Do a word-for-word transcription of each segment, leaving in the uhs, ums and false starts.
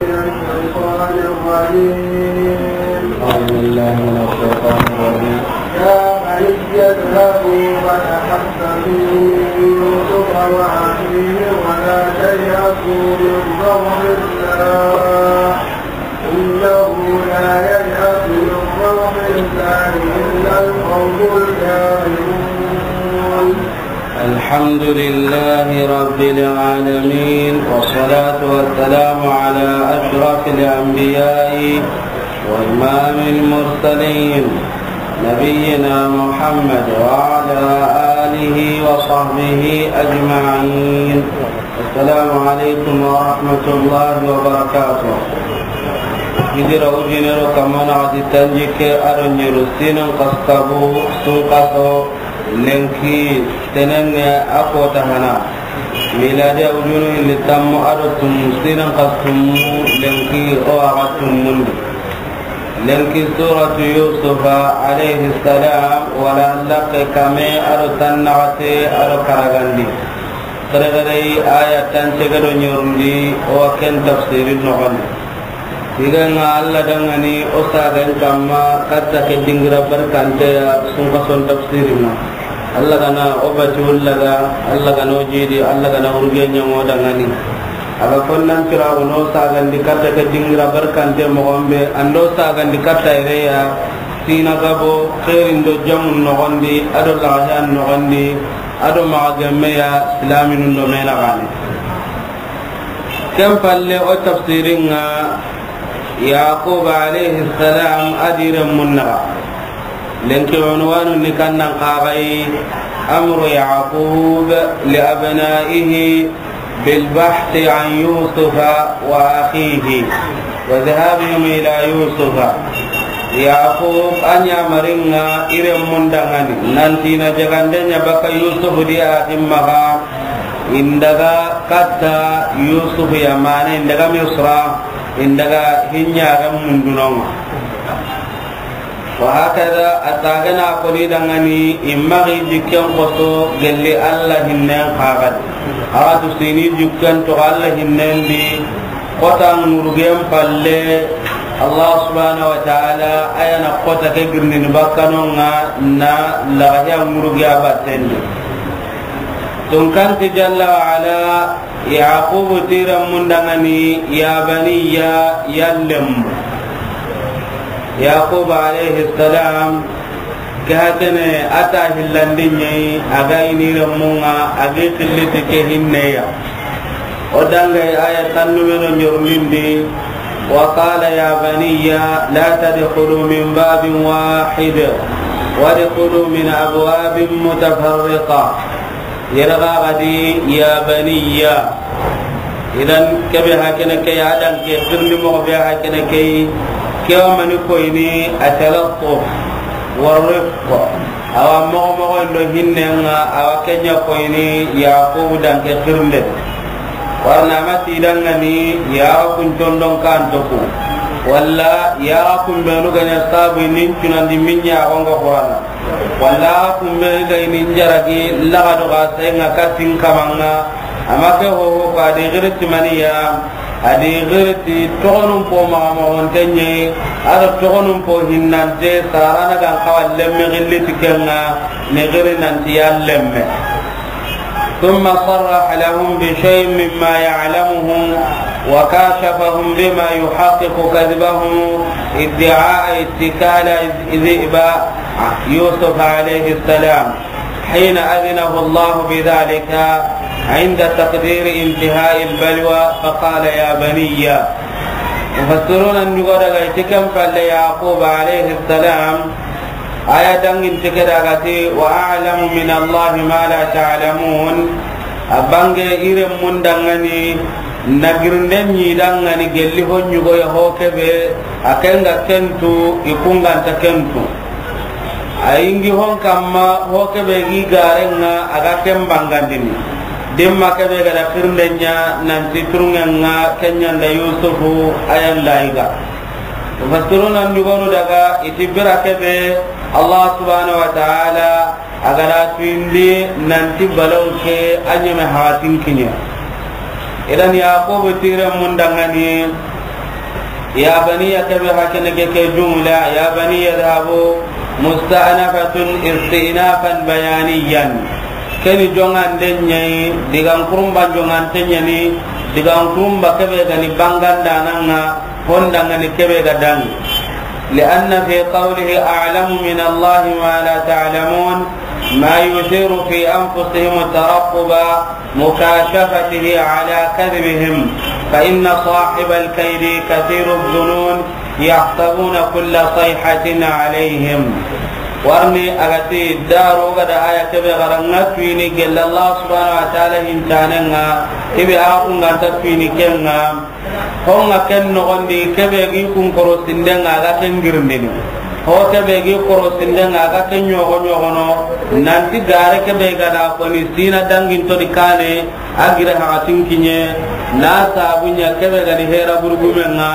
الشيطان الرجيم. أعوذ بالله من الشيطان الرجيم. يا بني اذهبوا فتحسسوا من يوسف وأخيه ولا تيأسوا من روح الله، إنه لا ييأس من روح الله إلا القوم الكافرون. الحمد لله رب العالمين، والصلاة والسلام على أشرف الأنبياء وإمام المرسلين، نبينا محمد وعلى آله وصحبه أجمعين. السلام عليكم ورحمة الله وبركاته. Hijira ujinero kamana ati tanjikke aro nyeru sinin kaskabu sun kaso lenki tenenge a kota hana. Miladi a ujunu hilli tammu ado tum sinin kastummu lenki o aga tummundi. Lenki suratu Yusufa alayhi salam wala laqe kame ado tannagate ado karagandi. Xeregere aya tance gado nyerundi o wa ken tafsirin noxondi. Tiga nga Allah dangani o sagan kamma katta ke dingira barkante ya sun kason tafsirin na. Allah gana o bati ullaga, Allah gana o jidi, Allah gana urge nyango dangani. Aga konnan kira o no sagandi katta ke dingira barkante moxombe, ando sagandi katta ireya, sina gabo, xerin do jamun noxondi, ado laxayan noxondi, ado maxa gemmeya silaminun do menaxani. Ken palle o tafsirin ŋa Yaqub alayhi salam a di renmun naxa. Lenki unwanu ni kannan xaxayi amru Yaqub li abnaihi bil bahthi an Yusufa wa akhihi wa dhahabihim ila Yusufa. Yaqub a ɲamarin ŋa i renmun dangani nanti na jagande ɲa baka Yusuf di a ximmaxa. Indaga katta Yusuf ya mane indaga Misra, indaga hinyaren mundunon ŋa. Wa hakada a tagana koni dangani imma gi jikken koso gelli Allah hinnen xaxadi. Awa tu sini jikken to Allah hinnen di kota ŋurugen palle Allah subhanahu wa ta'ala a ya na kota ke girnini bakkanon ŋa na laxaya ŋuruge a battendi. Tunkanti jalla wa ala, Yaqubu ti renmun dangani, ya baniya, yallem. Yaqub alayhi salam, ke hakene a ta hillandi ɲeyi, a ga ini renmun ŋa, a gi xilliti ke hinneya. O dangay aya tannu meno ɲorlindi, wa qala ya baniya la tadkhulu min babin wahid, wadkhulu min abwabin mutafarriqa. Yere ga ga di ya baniya. Idan kebe hakene ke ya dan ke xirni mo be hakene ke. Ke wa mani koyni atalattuf wa rifq. Awa moxo moxo ndo hinnen ŋa awa ke ɲa koyni Yaqub dan ke xirnde. Warna mati dangani ya kun tondon kan toku. Walla ya kun benu ga ɲa sabu nin cunandi min ɲa gonga Qur'ana. Walla kumbe ga ini njaragi laga do ga senga katin kamanga. Ama ke ho ho ko adi girti maniya, adi girti togonun po maga mogontenye, ado togonun po hinnante sarana gan kawa lemme gilli tikenga, ni giri nanti ya lemme. ثم صرح لهم بشيء مما يعلمهم وكاشفهم بما يحقق كذبهم ادعاء اتكال الذئب يوسف عليه السلام حين أذنه الله بذلك عند تقدير انتهاء البلوى فقال يا بني. Mufassiruna ndugo daga itikan palle Yaqub alayhi salam. Aya dangin tike daga ti, "Wa a'lamu min Allahi ma la ta'lamun." A bange iren mun dangani, na girinde ɲi dangani gelli ho ɲugo ya ho kebe, a kenga kentu, i kunganta kentu. A yingi hon kamma ho kebe gi garenga a ga ken bangandini. Dimma kebe ga da girinde ɲa nanti turungenga kenyanda Yusufu ayanda iga. Mufassiruna ndugonu daga iti bira kebe Allah subhanahu wa ta'ala a ga da tuindi nanti balaw ke a ɲeme haxatin kiɲe. Idan Yaqubu tiren mun dangani Ya baniya, kebe hakene ke, ke jumla, ya baniya idhabu, musta'nafatun istinafan bayaniyan. Keni jongande ɲa yi, digan kurumba jongante ɲa ni, digan kurumba kebe ga ni bangandana ŋa, honda ŋa ni kebe ga dangi. Li'anna fi qawlihi a'lamu min Allahi ma la ta'lamun, ma yuthiru fi anfusihim taraqquba mukashafatihi ala kadhibihim, fa inna sahibal kaydi kathiru dhunun, yahsabuna kulla sayhatin alayhim. Warni a ga ti daro ga da aya kebe ga ra ŋa tuini gella Allah subhanahu wa ta'ala hintane ŋa, kebe a ku ŋa nta tuini ken ŋa. Ho ŋa ken noxondi, kebe gi kun korosinde ŋa ga ken girindini. Ho kebe gi korosinde ŋa ga ken ɲogo ɲogono. Nanti gare kebe ga da koni sina dangin to di kane, a gire hakatin kiɲe, na sabu ɲa kebe ga ni hera burgume ŋa,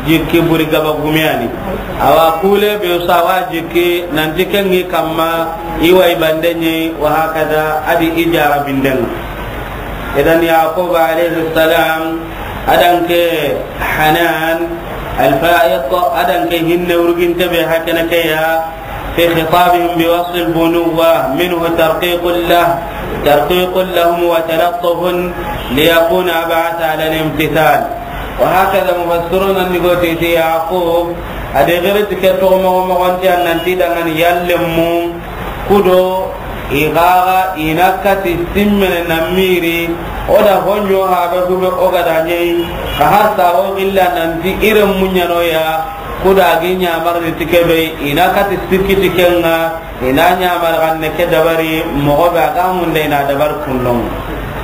jikki buri gaba gumeyani. Awa kule be sawa jikki, nanti ken ŋi kamma, i wa i bande ɲi, wa hakada, a di i jara binden ŋa. Idan Yaqub alayhi salam, a dan ke Hanan, al-Fa'iq, a dan ke hinne urginte be hakene ke ya, في خطابهم بوصف البنوة منه ترقيق له، ترقيق لهم وتلطف ليكون أبعث على الامتثال. وهكذا مفسرون ni go ti ti Yaqub, a de gere ti ke to mo mo gonti an nanti dangan yallemu kudo i gaga i na kati simmene na miri, o da honyo ha be hube o ga da ɲei, ka har sa o gilla nanti ire munyano ya, Kuda gi ɲamarni ti kebe, i na kati sikki ti ken ŋa, i na ɲamar xanne ke dabari, moxo be a ga munde i na dabari kundon.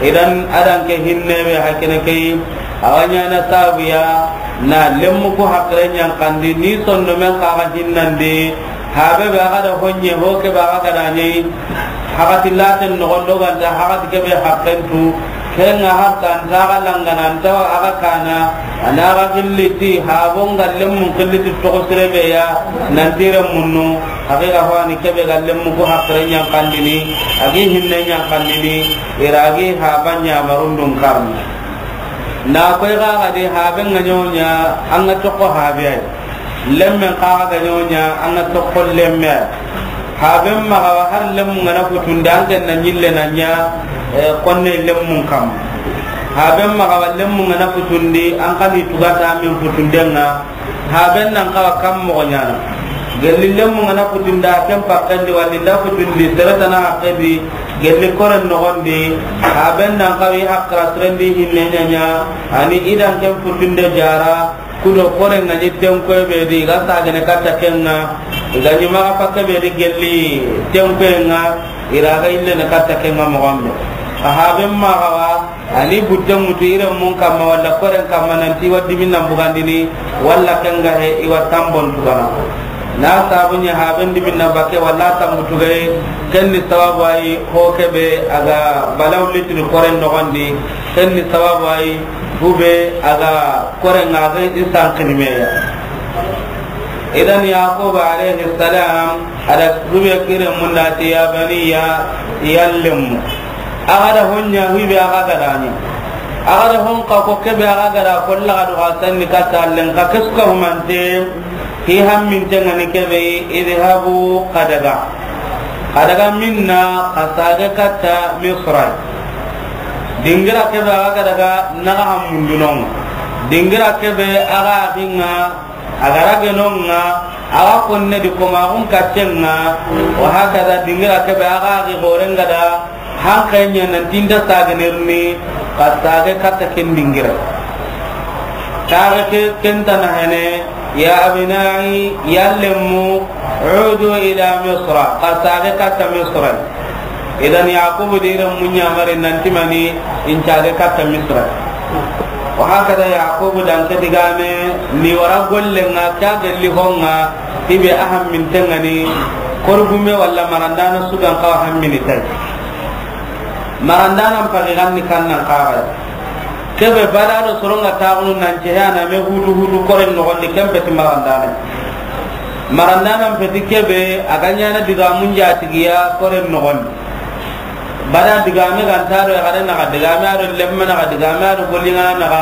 Idan a dan ke hinne be hakene ke, a wa ɲana sabu ya, na lemmu ku hakre ɲankandi, ni sonno men xa ga hinnandi, habe be a ga da honye, ho ke be a ga da ɲei, hakati laten noxon do ganta, hakati kebe hakren tu, Ken ŋa har ta nta ga langana, nta a ga kana, a na ga gilli ti, habo nga lemmun gilli ti toxo sire be ya, nanti ire munnu, haqiqa ho a ni kebe ga lemmu ku hakre ɲankandini, a gi hinne ɲankandini, i ra gi haba ɲamarun dun karni. Na koy ga ga di habe nga ɲoɲa, an ga toxo habe ay. Lemmen xa ga ɲoɲa, an ga toxo lemme. Haben maxa wa har lemmun ga na futundi, an ken na ɲille na ɲa, eh, konne lemmun kam. Haben maxa wa lemmun ga na futundi, an xa ni tugata men futunden ŋa. Haben nan xa wa kam moxo ɲana. Gelli lemmun ga na futundi, a ken pakkendi, walli nda futundi, sere tana haqqe di, gelli koren noxondi. Haben nan xa wi haqqara sirendi hinne ɲaɲa, ani i dan ken futunde jara, Kudo kore nga ni tenkoy be di, i ga sagene katta ken ŋa, i ga ni maxa pakke be di gelli tenkoy ŋa, i ra ga ille ne katta ken ŋa moxo be. A haben maxa wa, ani butte ŋutu ire mun kamma, walla koren kamma, nanti wa dimin nan bugandini, walla ken ga he, i wa tambon tugana. Na sabu ɲa haben dimin na bakke, walla tambu tugay, ken ni sababu ay, ho kebe, a ga balaw litini koren noxondi, ken ni sababu ay, hube, a ga Koren ŋa ga i sanqini me ya. Idan Yaqub alayhi salam, a da hube kire munda ti, ya baniya, yallemu. A ga da honya hube a ga ga da ni. A ga da hon ka ko kebe a ga ga da ko la ga do ga sanni ka tallen ka kesu ka humante, hi hamminte ŋa ni kebe, idhabu, xa daga. Xa daga minna, xa sage katta Misra. Dingira kebe a ga daga naga hamundunon. Dingira kebe a ga xinga, a ga ragenon ŋa, a ga konne di komaxun katten ŋa, wa hakaza dingira kebe a ga xi xoren ga da, hanke ɲa nan tinta sagenirni, xa sage katta ken dingira. Taxe ke, ken tana hene, ya abnai, yallemu, udu ila Misra, xa sage katta Misra. Idan Yaqubu di ren muɲa mari nanti mani in cage katta Misra. Wa hakada Yaqubu dan ke digame ni wara golle ŋa, ka gelli ho ŋa, ibe a hamminten ŋa ni, korgume walla marandana sugan kawa hammini tay. Marandana mpagi ganni kannan kawa. Kebe bada do soronga taxunu nan cehana me hutu hutu koren noxondi, ken peti marandana. Marandana mpeti kebe a ga ɲana digamun jatigiya koren noxondi. Bada digame ganta do yaxare naxa, digame a do lemme naxa, digame a do golliŋana naxa.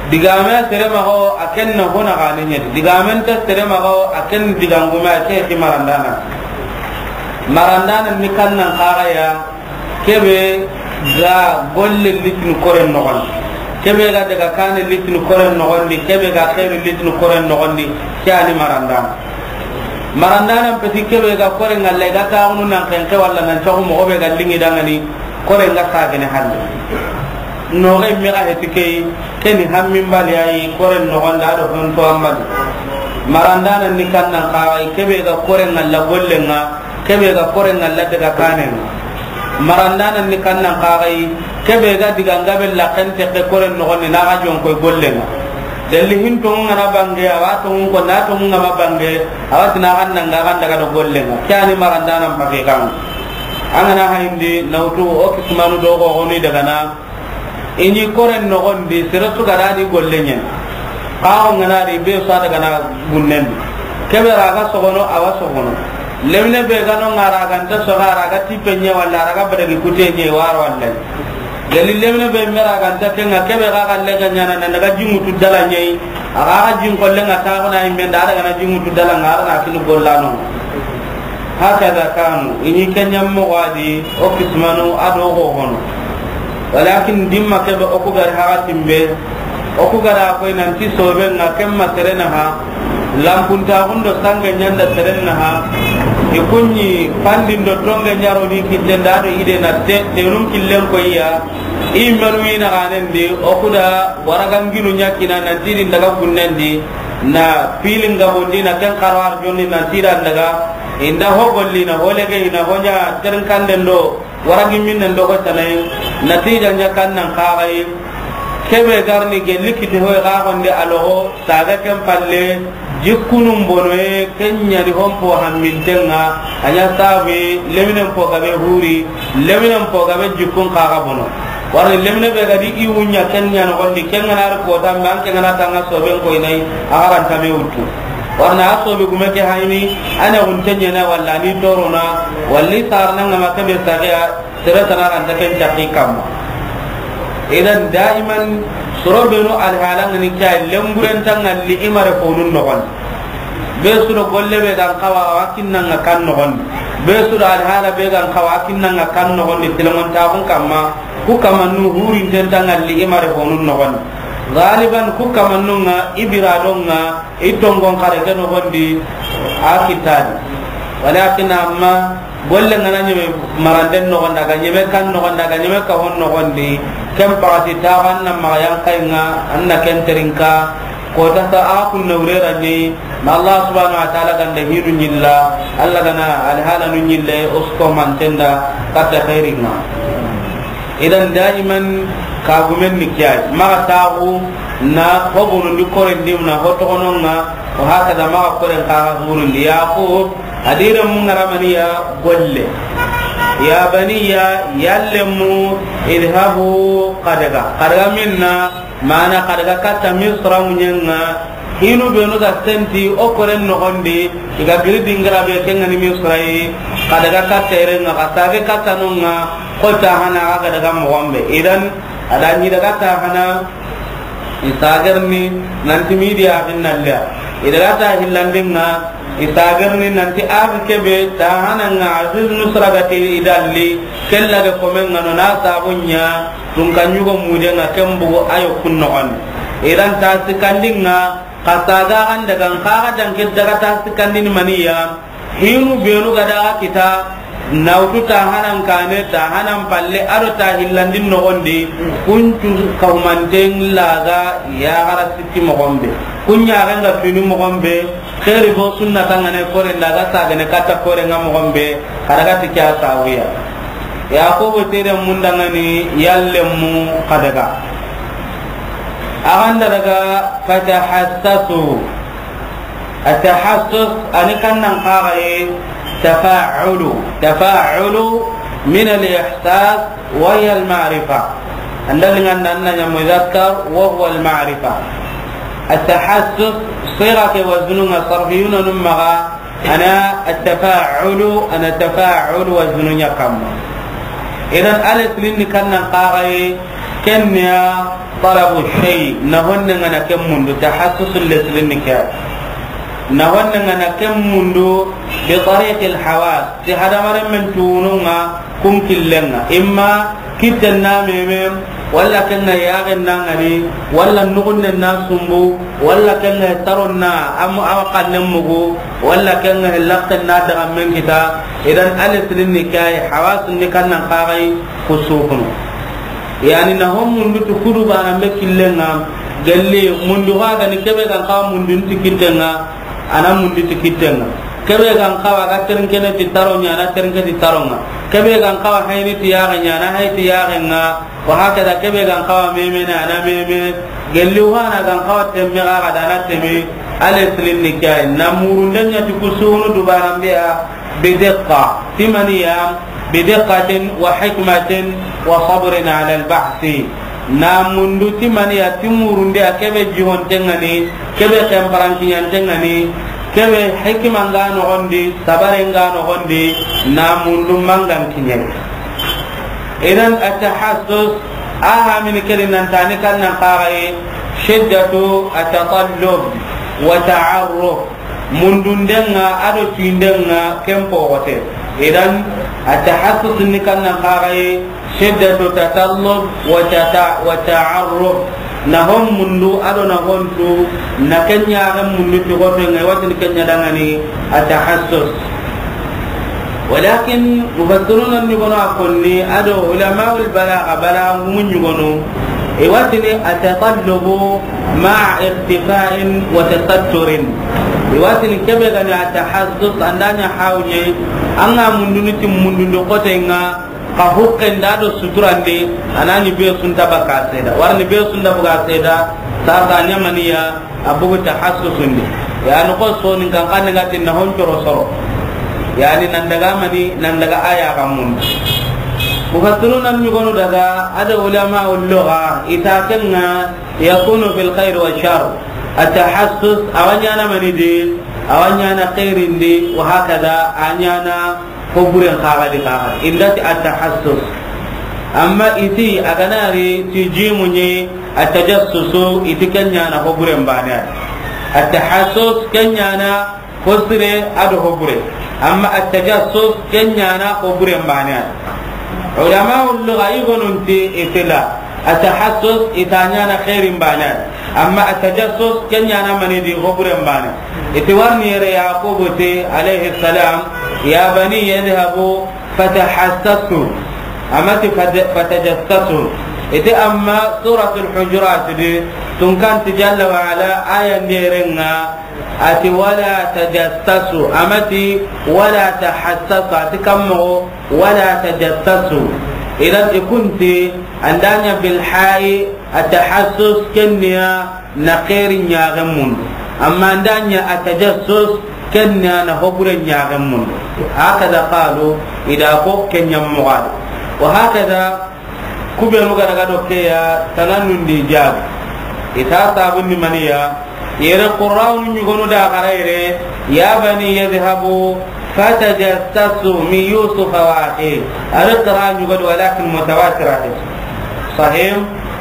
Digame sere maxa wo, a ken na hona gane ɲedi. Digame nta sere maxa wo, a ken digangume, a ke ti marandana. Marandana ni kannan kaga ya, kebe ga golle litini koren noxondi. Kebe ga daga kane litini koren noxondi. Kebe ga xeeri litini koren noxondi. Ke ani marandana. Marandana peti kebe ga koren ŋalla, i ga taxunu nan xenke walla nan caxu moxo be ga lingi dangani. Koren ga sagene halle. Noxe me ga heti key, ke ni hammin bali ayi, koren noxonda do honto an bali. Marandana ni kannan kaxay, kebe ga koren ŋalla gollen ŋa, kebe ga koren ŋalla daga kanen ŋa. Marandana ni kannan kaxay, kebe ga diga ngabe laxen texe koren noxondi na ga jonkoy gollen ŋa. Delli hin tonŋu ŋa na bange, awa tonŋu ko na tonŋu ŋa ma bange, awa tina ga nanga ga daga do gollen ŋa. Ke ani marandana mpake kan. An ga na hayindi nawtu o kisimanu do xo xoni daga na. I ɲi koren noxondi, sere su ga da di golle ɲen. Xa o ŋa na di be su a daga na gunnen di. Kebe ra ga sogono, awa sogono. Lemine be ga no ŋa ra ga nta soga, ra ga tipe ɲe walla ra ga badagi kute ɲe waro walla. Gali lemine be me ra ga nta ke ŋa, kebe ga ga le ga ɲana na daga jingutu dala ɲe. A ga ga jin kolle ŋa ta na i me nda daga na jingutu dala ŋa ra na kini gollano. Hakada kanu, i ɲi ke ɲammo wadi, o kismanu a do xo hono. Walakin dimma kebe o ku gari haga timbe, o ku gara koy nanti sobe ŋa kemma serena ha, lampunta hundo sange ɲanda serena ha, i kunɲi pandin do tonge ɲaro ni kitten da do ide na te, tenun killen koy ya, i menu ina ganen di, o ku da waragangilu ɲakina nanti din daga gunnen di, na pilin gabondi na ken xaro arjondi na tidan daga, inda ho golli na ho lege ina ho ɲa ternkanden do, waragi minnen do ho tanay, natija ɲa kannan kaxay, kebe garni gelli kiti hoy ga gonde alogo, saga ken palle, jikkunun bonoye, ken ɲani hompo hamminten ŋa, a ɲa sabu, leminen po gabe huri, leminen po gabe jikkun kaga bono. Warni lemine be gadi i wunya ken ɲa no gondi, ken ŋa na ri kota, mbe an ken ŋa na tanga soben ko inay, a garanta me wuttu. Warna a sobe gume ke hayni, ane gunte ɲena walla ni torona, walli sarna ŋa ma kebe sagiya, sere tana ranta ken cakki kamma. Idan daiman soro benu alhala ŋa ni kya lemburen tangalli imare fonun nogon. Be su do golle be gan kawa, a wa kinnanga kan nogondi. Be su do alhala be gan kawa, a kinnanga kan nogondi, tilamontaxun kamma, ku kamannu hurinten tangalli i mare honun nogondi. Galiban ku kamannun ŋa, i biradon ŋa, i tongon xare ke nogondi, a kittadi. Walakin amma, golle ŋa na ɲeme maranden nogondi, a ga ɲeme kan nogondi, a ga ɲeme kahon nogondi, ken paxati taxu an na maxa yankayi ŋa, an na ken terinka, kota sa a kunna wurera ni, ma Allah subhanahu wa ta'ala ganda hinu ɲilla, Allah gana alhalanu ɲille, usko mantenda, katta khairin ŋa. Idan daiman kagumen ni kiyai, maxa taxu na hobonundi korendi na hotoxonon ŋa, wa hakada maxa koren kaxa hurundi. Yaqub, a diren mu ŋaramaniya golle. Ya baniya, yallemu, idhabu, xa daga. Xa daga minna, mana xa daga katta Misra muɲen ŋa, hinu benu ga senti o koren nogondi, i ga giri dingira be ken ŋa ni Misra yi, xa daga katta iren ŋa, xa sage katta non ŋa, ko ta hana ga daga mogon be. Idan, a da ɲi daga ta hana, i sagerni nanti midiya hinnalliya. I daga ta hillandin ŋa, i sagerni nanti a kebe ta hana ŋa, Aziz Nusra ga ti i dalli, kella ga komen ŋa no na sabu ɲa, tun ka ɲugo muden ŋa ken bugu ayo kun nogondi. Idan ta sikandin ŋa, xa saga gan daga n xa ga danke daga ta sikandini maniya, hinu benu ga daga kita, nawtu ta hanan kane, ta hanan palle, ado ta hillandin nogondi, kuncu kaumanten laga ya gara sikki mogon be. Kunya ga nga fini mogon be, xeeri bo sunna tangane kore nda ga sagane katta kore nga mogon be, xa daga ti kya sawiya. Yaqubu tere mundangani yallemu xa daga. A ganda daga fatahassasu. At-tahassus, ani kannan kaxaye, tafa'ulu. Tafa'ulu min al-ihsas wa hiya al-ma'rifa. Andal nganda anna nya muzakkar wa huwa al-ma'rifa. At-tahassus, siga ke wazununga sarfiyuna num maga, ana at-tafa'ulu, ana tafa'ulu wazunu nya kamma. Idan alif linni kannan kaxaye, Ken ya talabu shay, na honne ŋa na ken mundu, tahassusul leslin ni ke. Na honne ŋa na ken mundu bi tariqil hawas, ti hadamaren men tunun ŋa kun killen ŋa. Imma kitten na meme, walla ken ŋa yaxen na ŋari, walla nuxunnen na sumbu, walla ken ŋa taron na am-, awa kannen mugu, walla ken ŋa laxen na daga men kita. Idan a leslin ni ke, hawasun ni kannan kaxay ku sukunu. Yani na hon mundu tu kudu bana be killen ŋa, gelli mundu ga ni kebe gan kawa mundu ti kitten ŋa, a na mundu ti kitten ŋa. Kebe gan kawa ga ternkene ti taron ŋa, a na ternke ti taron ŋa. Kebe gan kawa hayni ti yaxen ŋa, a na hay ti yaxen ŋa. Wa hakada kebe gan kawa meme na, a na meme. Gelli wana gan kawa temme ga ga da na temme. A leslin ni ke, na murunden ɲa ti ku sunu du bana be ya. Bidiqqa, timaniya, bidiqqatin wa hikmatin wa sabrin ala albahsi. Na mundu timaniya, timurunde a kebe jihonten ŋa ni, kebe kemparankiɲanten ŋa ni, kebe hikima nga noxondi, sabare nga noxondi, na mundu mangan kiɲe. Idan at-tahassus, a hamini kedi nan tani kannan kaxaye, shiddatu at-tatallub wa ta'arruf. Mundunden ŋa, a do tuyinden ŋa, ken poxote. Idan, a tahassus ni kannan kaxaye, shiddatu tatallub wa tata-, wa ta'arruf. Na hon mundu, a do na hon tu, na ken ɲaxen mundu ti xoto ŋa, i wa tini ken ɲa dangani, a tahassus. Walakin mufassiruna ɲugono a konni, a do ulamaul balagha, balagha ngumu ɲugono, i wa tini at-tatallubu ma'a irtifa'in wa tasatturin. I wa tini kebe ga ni at-tahassus, an da ɲa hawɲe, an ga mundunu ti mundundu xote ŋa, ka hukken da do suturande, a na ɲi be sunta baka seda. Warni be sunta buga seda, sasa ɲamaniya, a bugu tahassusundi. Yani ko soninkan xanne ga ti na hon coro soro. Yani nan daga mani, nan daga aya ga mun. Mufassiruna ɲugonu daga, a do ulamaul lugha, i ta ken ŋa yakunu fil khair wa shar. At-tahassus, a wa ɲana mani di, a wa ɲana khairin di, wa hakada, a ɲana ko buren kaga di kaga. I nda ti at-tahassus. Amma i ti a ga na ri ti jimu ɲi, at-tajassusu, i ti ken ɲana ko buren bane. At-tahassus ken ɲana ko sire a do ko bure. Amma at-tajassus ken ɲana ko buren bane. Ulamaul lugha i gonun ti i ti la. At-tahassus i ta ɲana khairin bane. Amma at-tajassus ken ɲana mani di ko buren bane. I ti warni yere Yaqubu ti alayhi salam, ya bani yadhhabu fatahassasu. A ma ti fata-, fatajassasu. I ti amma Suratul Hujurat di, tun kan ti Jalla wa Ala, aya nderen ŋa, a ti wala tajassasu. A ma ti wala tahassasu. A ti kammo wala tajassasu. Idan i kun ti, an da ɲa bil ha'i, at-tahassus ken ɲa na xeeri ɲaxen mundu. Amma an da ɲa at-tajassus, ken ɲa na hobure ɲaxen mundu. Hakada qalu, i da ko ken ɲa moxo di. Wa hakada, ku benu ga daga do ke ya, tananun di jabi. I ta sabundi maniya, yere Qur'anu ɲugonu da xara yere, ya bani yadhhabu fatajassasu min Yusufa wa akhihi. A ri qira'a ɲugo di, walakin mutawatira di. Sahih.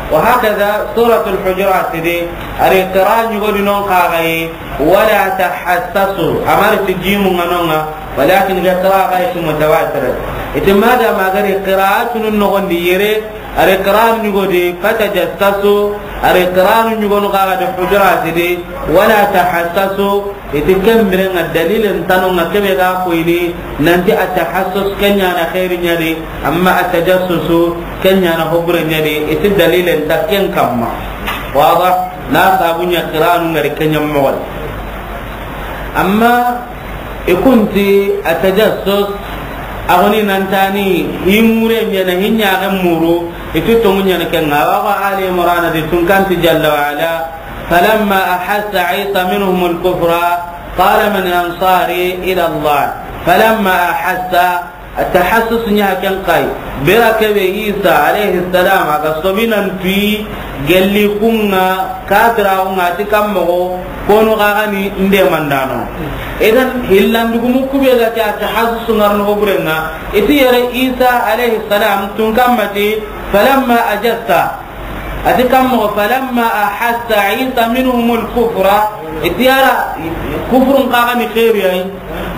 Wa hakada Suratul Hujurat di, a ri qira'a ɲugo di non kaga yi, wala tahassasu. A ma ri ti jimu ŋa non ŋa, walakin ga qira'a ga yi mutawatira. I ti madama a ga ri qira'atun noxon di yere, a ri qira'a ɲugo di fatajassasu, a ri qira'a ɲugonu kaga di Hujurat di, wala tahassasu, i ti ken biren ŋa dalilen tanu ŋa kebe ga koyini, nanti at-tahassus ken ɲa na xeeri ɲa di, amma at-tajassusu ken ɲa na hobure ɲa di, i ti dalilen ta ken kamma. Wada, na sabu ɲa qira'anu ŋa ri ken ɲa moxo di. Amma i kun ti at-tajassus, a goni nan tani, i mure ɲa na hi ɲaxen muru, i ti tongu ɲa na ken ŋa. Wa ga Ali Imran di tun kan ti Jalla wa Ala, falamma ahassa Isa minhumul kufra, qala man ansari ila Allah. Falamma ahassa, at-tahassus ɲa ken kay. Bira kebe Isa alayhi salam a ga sobinan tuyi gelli kun ŋa, kafira kun ŋa ti kammo, kono kaga ni nde mandano. Idan hillandugumu kube ga ti at-tahassus ŋarno buren ŋa, i ti yere Isa alayhi salam tun kamma ti, falamma ajassa, A ti kan moxo, falamma ahassa Isa minhumul kufra, i ti yala kufrun xa ga ni xeeri ya yi.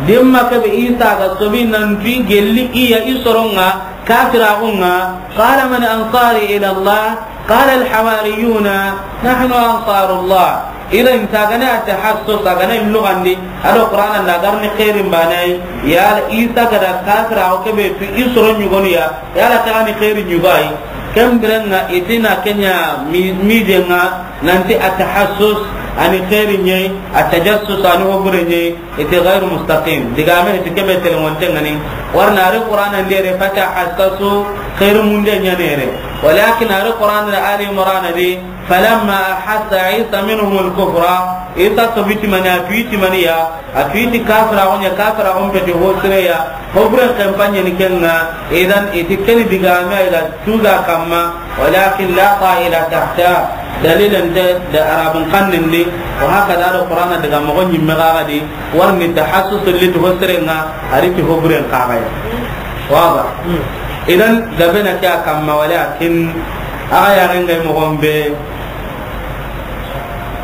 Dimma ke be Isa ga sobi nan ti gelli i ya i soron ŋa, kafiraaxun ŋa. Qala man ansari ila Allah, qala al hawariyuna nahnu ansarullah. Idan, ta ga na tahassus, ta ga na lugandi, a do Qur'ana na ga ri ni xeerin baane ya yi, yala Isa ga da kafiraaxu ke be tu i soron ɲugonu ya, yala ta ga ni xeerin ɲugo a yi. Ken biren ŋa i ti na ken ɲa mi-, miiden ŋa, nan ti at tahassus a ni xeeri ɲa yi, at tajassus a ni hobure ɲa yi, i ti ghayru mustaqim. Digaame i ti ke be telenŋonten ŋa ni. Wari na ri Qur'ana ndi yere, fatahassasu, xeeri munde ɲa ni yere. Walakin a ri Qur'ana da Ali Imran di, falamma ahassa Isa minhumul kufra, Isa sobi ti mani, a tu i ti mani ya, a tu i ti kafiraaxun ɲa, kafiraaxun peti ho sire ya, hoburen xenpa ɲa ni ken ŋa. Idan, i ti ken ni digaame a yi ga tuga kamma, walakin la ta'ila tahta, dalilan te da Arabun xannen di, wa hakada do Qur'ana daga moxo ɲimme xa ga di, wari ni tahassus li ti ho siren ŋa, a ri ti hoburen xa ga ya. Waba. Idan, gabe na ke a kamma, walakin a ga ya ren ga yi moxon be,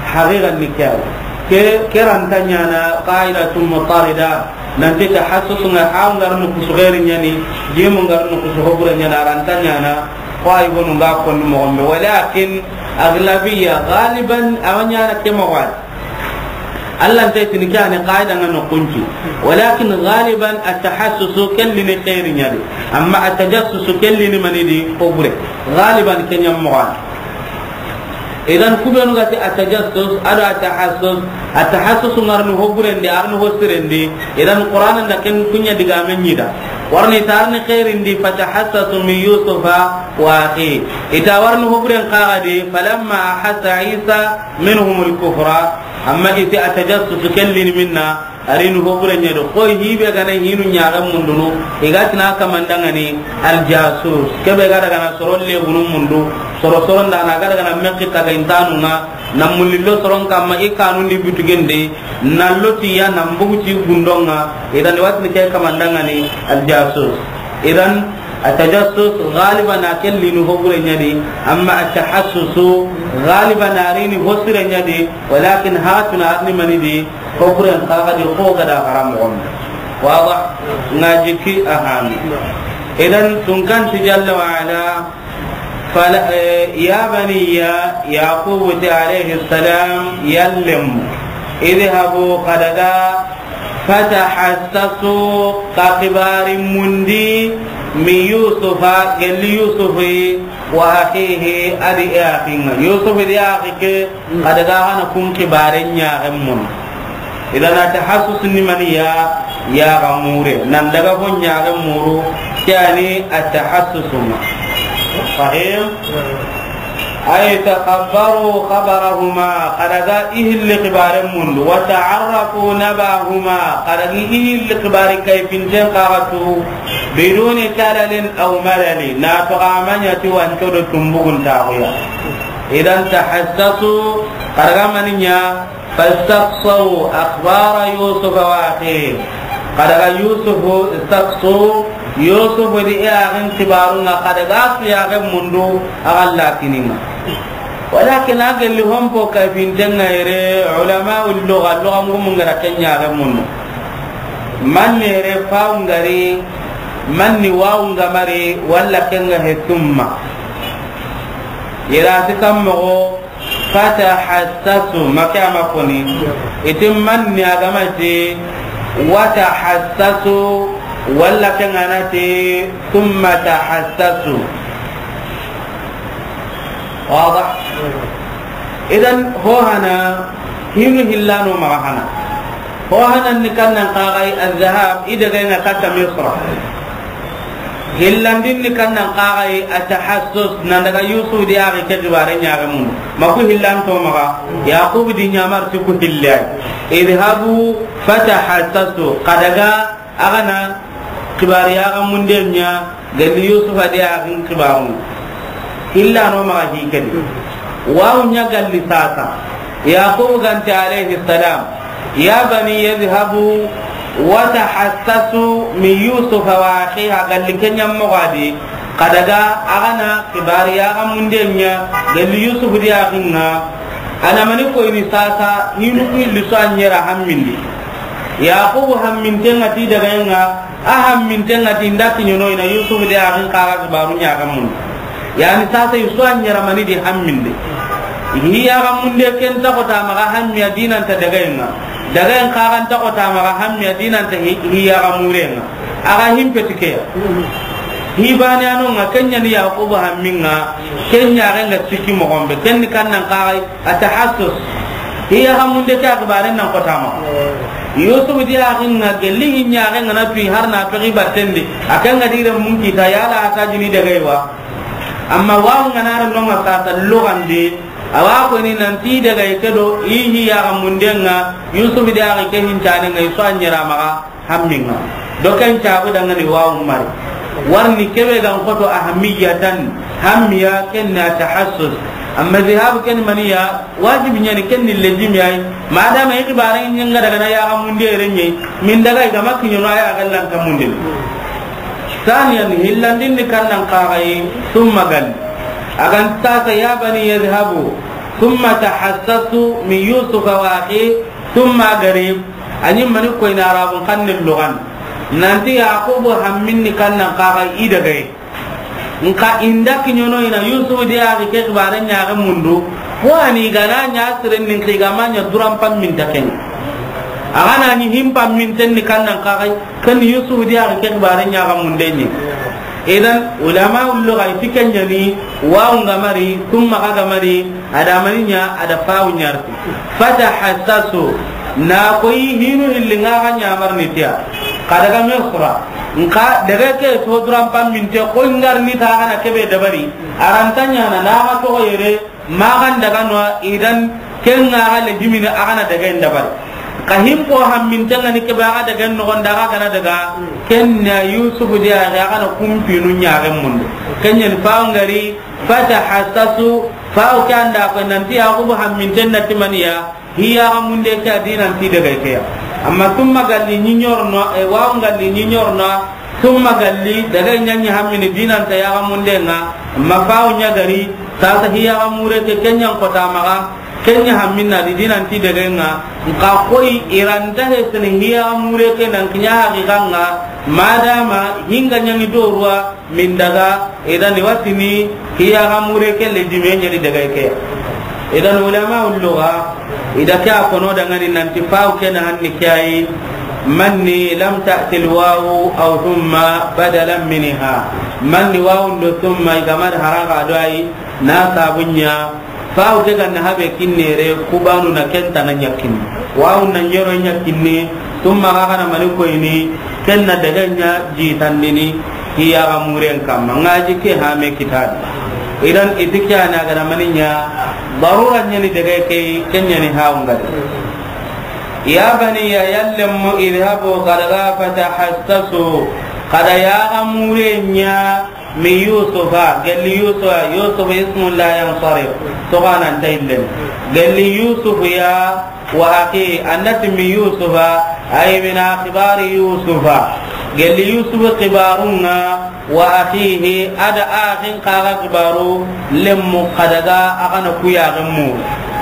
haqiqan ni ke a yi. Ke, ke ra nta ɲaana qa'idatun mutarida, nan ti tahassus ŋa, ha ŋa ri ni kusu xeeri ɲa ni, jimu ŋa ri ni kusu hobure ɲa ni, a ra nta ɲaana, ko a yi gonu ŋa konni moxon be. Walakin, aglabiya, galiban, a wa ɲaana ke moxo ya. Allah nta i ti ni ke a ni qaida ŋa no kunci. Walakin galiban at tahassusu ke li ni xeeri ɲa di. Amma at tajassusu ke li ni mani di, hobure. Galiban ke ɲa moxo ya. Idan, ku be nu ga ti at tajassus, a do at tahassus, at tahassus ŋa ri ni hoburen di, a ri ni ho siren di. Idan, Qur'ana da ken ku ɲa digaame ɲi da. Wari ni ta ri ni xeerin di, fatahassasu min Yusufa wa akhi. I ta wari ni hoburen xa ga di, falamma ahassa Isa minhumul kufra. Amma i ti at tajassus ke li ni minna, a ri ni hobure ɲa di. Xoy hi be ga na hinu ɲaxen mundunu, i ga ti na kaman da ŋa ni al jasus. Ke be ga daga na soron lebunun mundu, soro soron da na ga daga na mekki taga intanu ŋa, na mulli lo soron kamma i kanun di butugin di, na lo ti ya na mbugu ti gundon ŋa. Idan, i wa ti ni ke kaman da ŋa ni al jasus. Idan, at tajassus galiban a ke li ni hobure ɲa di, amma at tahassusu galiban a ri ni ho sire ɲa di, walakin ha tu na a ri ni mani di, hoburen xa ga di, xo ga da xara moxon. Waba, ŋa jikki a hami. Idan, tunkan ti jalla wa ala, fala, eh, ya baniya, Yaqubu ti alayhi salam, yallem, idhabu, xa daga, fatahassasu, xa xibaari mundi, min Yusufa, gelli Yusufi, wa akhihi, a di i axi ŋa. Yusufi di i axi ke, xa daga xa na kun xibaare ɲaxen mun. Idan, at tahassus ni mani ya, ya ga mure. Nan daga ho ɲaxen muru, ke a ni at tahassus ŋa. Fahim? Ay takhabbaru khabarahuma, xa daga i hilli xibaaren mundu, wa ta'arrafu nabahuma, xa daga i hilli xibaari kayfinten xa ga tu, biduni talalin aw malali, na toxo a ma ɲa ti wanco do tumbugun taxuya. Idan tahassasu, xa daga mani ɲa, fastaqsaw akhbara Yusufa wa akhihi. Xa daga Yusufu, istaqsaw, Yusufu di i axin xibaarun ŋa, xa daga a su yaxen mundu, a ga la kini ŋa. Walakin a gelli hompo kayfinten ŋa yere, ulama'ul lugha, lugha mugu mun ga ra ken yaxen mundu. Manne yere fa'u ŋa ri, manne wa'u ŋa ma ri, walla ken ŋa he summa. Yere a ti kan moxo, fatahassasu, ma ke a ma koni. I ti manne a ga ma ti, watahassasu, walla ken ŋa na ti, summa tahassasu. Waba. Idan, ho hana, hinu hillano maxa hana. Ho hanan ni kannan xa ga i adh-dhahab, i daga ŋa katta Misra. Hillandin ni kannan xa ga i at-tahassus, nan daga Yusuf di axi ke xibaare ɲaxen mundu. Ma ku hillanto maxa, Yaqub di ɲamar ti ku hille ay. Idhabu fatahassasu, xa daga a ga na xibaari yaxen munde ɲa, gelli Yusufa di axin xibaarun. Hillano maxa hi ke di. Wawu ɲa galli sasa. Yaqub ga nti alayhi salam, ya bani yadhhabu wa tahassasu min Yusufa wa akhihi, galli ke ɲa moxo a di. Xa daga a ga na xibaari yaaxamunden ɲa, gelli Yusufu di yaaxin ŋa, a na mani koyini saasa, hinu ku hilli su a ɲera hammindi. Yaxubu hamminten ŋa ti dagayen ŋa, a hamminten ŋa ti nda kiɲono i na Yusufu di yaaxin xa ga xibaaru ɲa yaaxamundi. Yaani saasa i su a ɲera mani di hamminde. Hi yaaxamunde ken ta xota maxa hammiya dinanta dagayen ŋa. Dagayen xa ga nta xota maxa hammiya dinanta hi, hi yaaxamuren ŋa. A ga himpe ti ke ya. Hi baane a no ŋa, ken ɲa ni Yaxubu hammin ŋa, ken ɲa ga ŋa sikki moxon be, ken ni kan nan xa ga a tahassus. Hi yaaxamunde ke a xibaaren nan xota maxa. Yusufu di yaaxin ŋa gelli hi ɲa ga ŋa na tuyi har na toxi batten di. A ken ga di renmun kita yala a ta jini dagay wa. Amma wawu ŋa na ren no ŋa saasa lugandi. A wa koyini nanti dagay ke do i hi yaaxamunden ŋa, Yusufu di yaaxi ke hincanen ŋa, i su a ɲera maxa. Hammin ŋa. Do ken caabu dangani wawu mari. Warni kebe gan xoto ahamiyatan, hammiya ken na tahassus. Amma zihabu ken maniya, wajibi ɲa ni ken ni lejimi yayi. Madama i xibaare ɲa ŋa daga na yaaxamunde renye, min daga i ga ma kiɲono a ya gallan ka mundin. Saniyan, hillandin ni kan nan xa ga yi, summa gal. A ga nta saasa ya bani yadhhabu, summa tahassasu min Yusufa wa akhi, summa gari. A ɲi mani koyini Arabun xannen lugan. Nanti Yaxubu hammin ni kan nan xa ga i dagaye. Nxa i nda kiɲono i na Yusufu di yaaxi ke xibaare ɲa yaaxamundu. Ko a ni ga na ɲa siren ni nxa i ga ma ɲa duran pamminta ken. A ga na ɲi hin pamminten ni kan nan xa ga ken Yusufu di yaaxi ke xibaare ɲa yaaxamunden ɲi. Idan, ulama ullu ga i ti ken ɲa ni, wawu ŋa mari, summa xa ga mari, a da mani ɲa, a da fawu ɲarti. Fatahassasu, na koyi hinu hilli ŋa ga ɲa marni tiya. Xa daga Misra, nxa daga ke so duran pamminte koyi ŋarni ta ga na kebe dabari. A ra nta ɲaana na ga toxo yere, Maxan daga no, idan ken ŋa ga lejimini a ga na daga en dabari. Xa himpo hamminten ŋa ni kebe a ga daga en noxon da a ga na daga, ken na Yusufu di a ga na kumpinu ɲa yaaxamundu. Ken ɲa ni fawu ŋari, fatahassasu, fawu ke an da ko nanti Yaxubu hamminten na ti maniya, hi yaaxamunde ke a dinanti dagay ke ya. Amma summa galli ɲi ɲorno, e, wawu ŋalli ɲi ɲorno, Summa galli, daga i ɲa ɲi hammini dinanta yaaxamunden ŋa, ma fawu ɲa gari, saasa hi yaaxamure ke, ken ɲa n xota maxa, ken ɲa hamminna di dinanti dagayen ŋa, nxa koyi i ra nta hesini hi yaaxamure ke nan kiɲa haqiqan ŋa, madama hi ŋa ɲaŋi doruwa min daga, idan i wa tini hi yaaxamure ke lejime ɲa ni dagay ke ya. Idan ulama ullu ga, i da ke a kono dangani nanti fawu ke na hanni ke yi, manni lam ta'til wawu aw thumma badalan minha. Manni wawu ndo thumma i ga ma da haraga do ayi, na sabu ɲa, fawu ke ga na habe kinnere, kubanu na ken ta na ɲa kinni. Wawu na ɲero ɲa kinni, thumma ga ga na mani koyini, ken na daga ɲa jitandini, hi yaaxamuren kamma. Ŋa ji ke hame kitabi. Idan i ti ke a na ga na mani ɲa, darura ɲa ni daga ke, ken ɲa ni hawu ŋari. Ya baniya, yallenmu, idhabu, xa daga, fatahassasu, xa da yaaxamure ɲa, min Yusufa, gelli Yusufa, Yusuf ismun la yansarif, toxo a na nta yillen. Gelli Yusuf ya, wa akhi, a na ti min Yusufa, ay min akhbari Yusufa. Gelli Yusuf xibaarun ŋa, wa akhihi, a da axin xa ga xibaaru, lemmu xa daga a ga na ku yaaxen mu.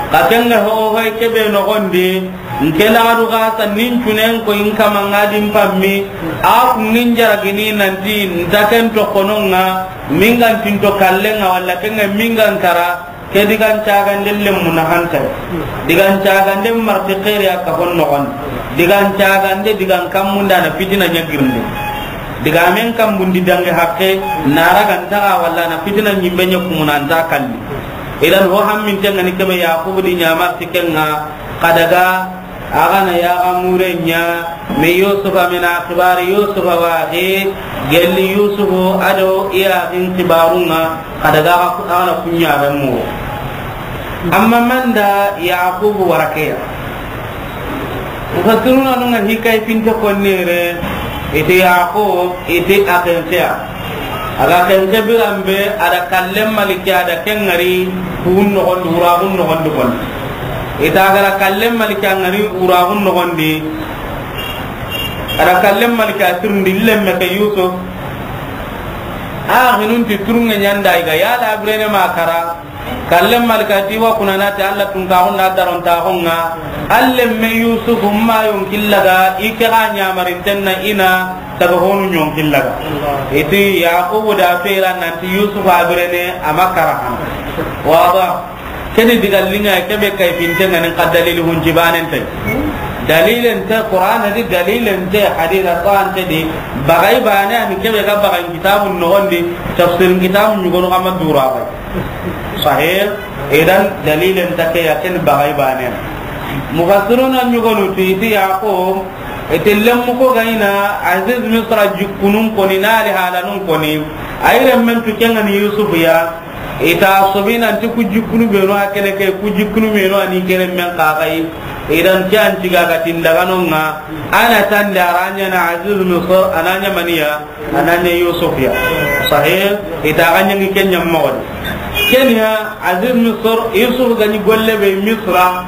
Xa ken ŋa ho hoy kebe noxon di, N ke laxadu xa sannin cunen ko in kama ŋa di n pammi, a kun ŋa n jaragini nanti nta ken toxonon ŋa, mingan tinto kallen ŋa walla ken ŋa mingan kara, ke digan cagande lemmu na hantay. Digan cagande marti xeeri a kafon noxon. Digan cagande digan kammunda na fitina ɲa girinde. Digamen kambundi dange haqqe, na raga ntaxa walla na fitina ɲimbe ɲa kumuna nta kalli. Idan ho hamminten ŋa ni kebe Yaxubu di ɲa marti ken ŋa, Xa daga, a ga na yaaxamuren ɲa, min Yusufa, min akhbari Yusufa wa akhi, gelli Yusufu a do i yaaxin xibaarun ŋa, xa daga a ga na ku ɲaxen mu. Amma manda Yaxubu wara ke ya. Mufassiruna nun ŋa hikay finte konnere, i ti Yaxub, i ti a xenxe ya. A ga xenxe biran be, a da kallen maliki, a da ken ŋari, kuwun noxon di, wuraxun noxon di konni. I ti a ga da kallen maliki, a ŋari wuraxun noxon di. A da kallen maliki, a tirindi lemme ke Yusuf. A xinun ti turunŋe ɲanda i ga yala birene ma kara. Kallen malika ti wa kuna na ti Alla tun ka hunda daron ta honga. Alle me Yusuf ma yon killaga i ke ga ɲamarin tenna ina daga honu ɲon killaga. Iti Yaqubu da fera nan ti Yusuf a birene a ma kara han. Wada. Keni diga linga kebe kay pinte ngani ka dalil hunji banen tay. Dalilen te Qur'an di, dalilen te hadith, Qur'an te di. Bagay bane ani kebe ga bagay kitabun no gondi, tafsir kitabun ɲugonu kama dura bay. Sahih. Idan dalilen ta ke ya ken bagay bane. Mufassiruna ɲugonu ti, ti Yaqub, ite lemmu ko gayna Aziz Misra jikkunun koni, nali halanun koni. Ayre men tu kengani Yusuf ya. Ita sobi nanti ku jikkunu benu a kene ke, ku jikkunu benu ani kene men kakai. Idan ke an tiga ga tindaganonga, ana tande aranya na Aziz Misr, ananya maniya, ananya Yusuf ya. Sahih, ita ganya ngi kenya mawdi. Kenya Aziz Misr, Yusuf gani golle be Misra,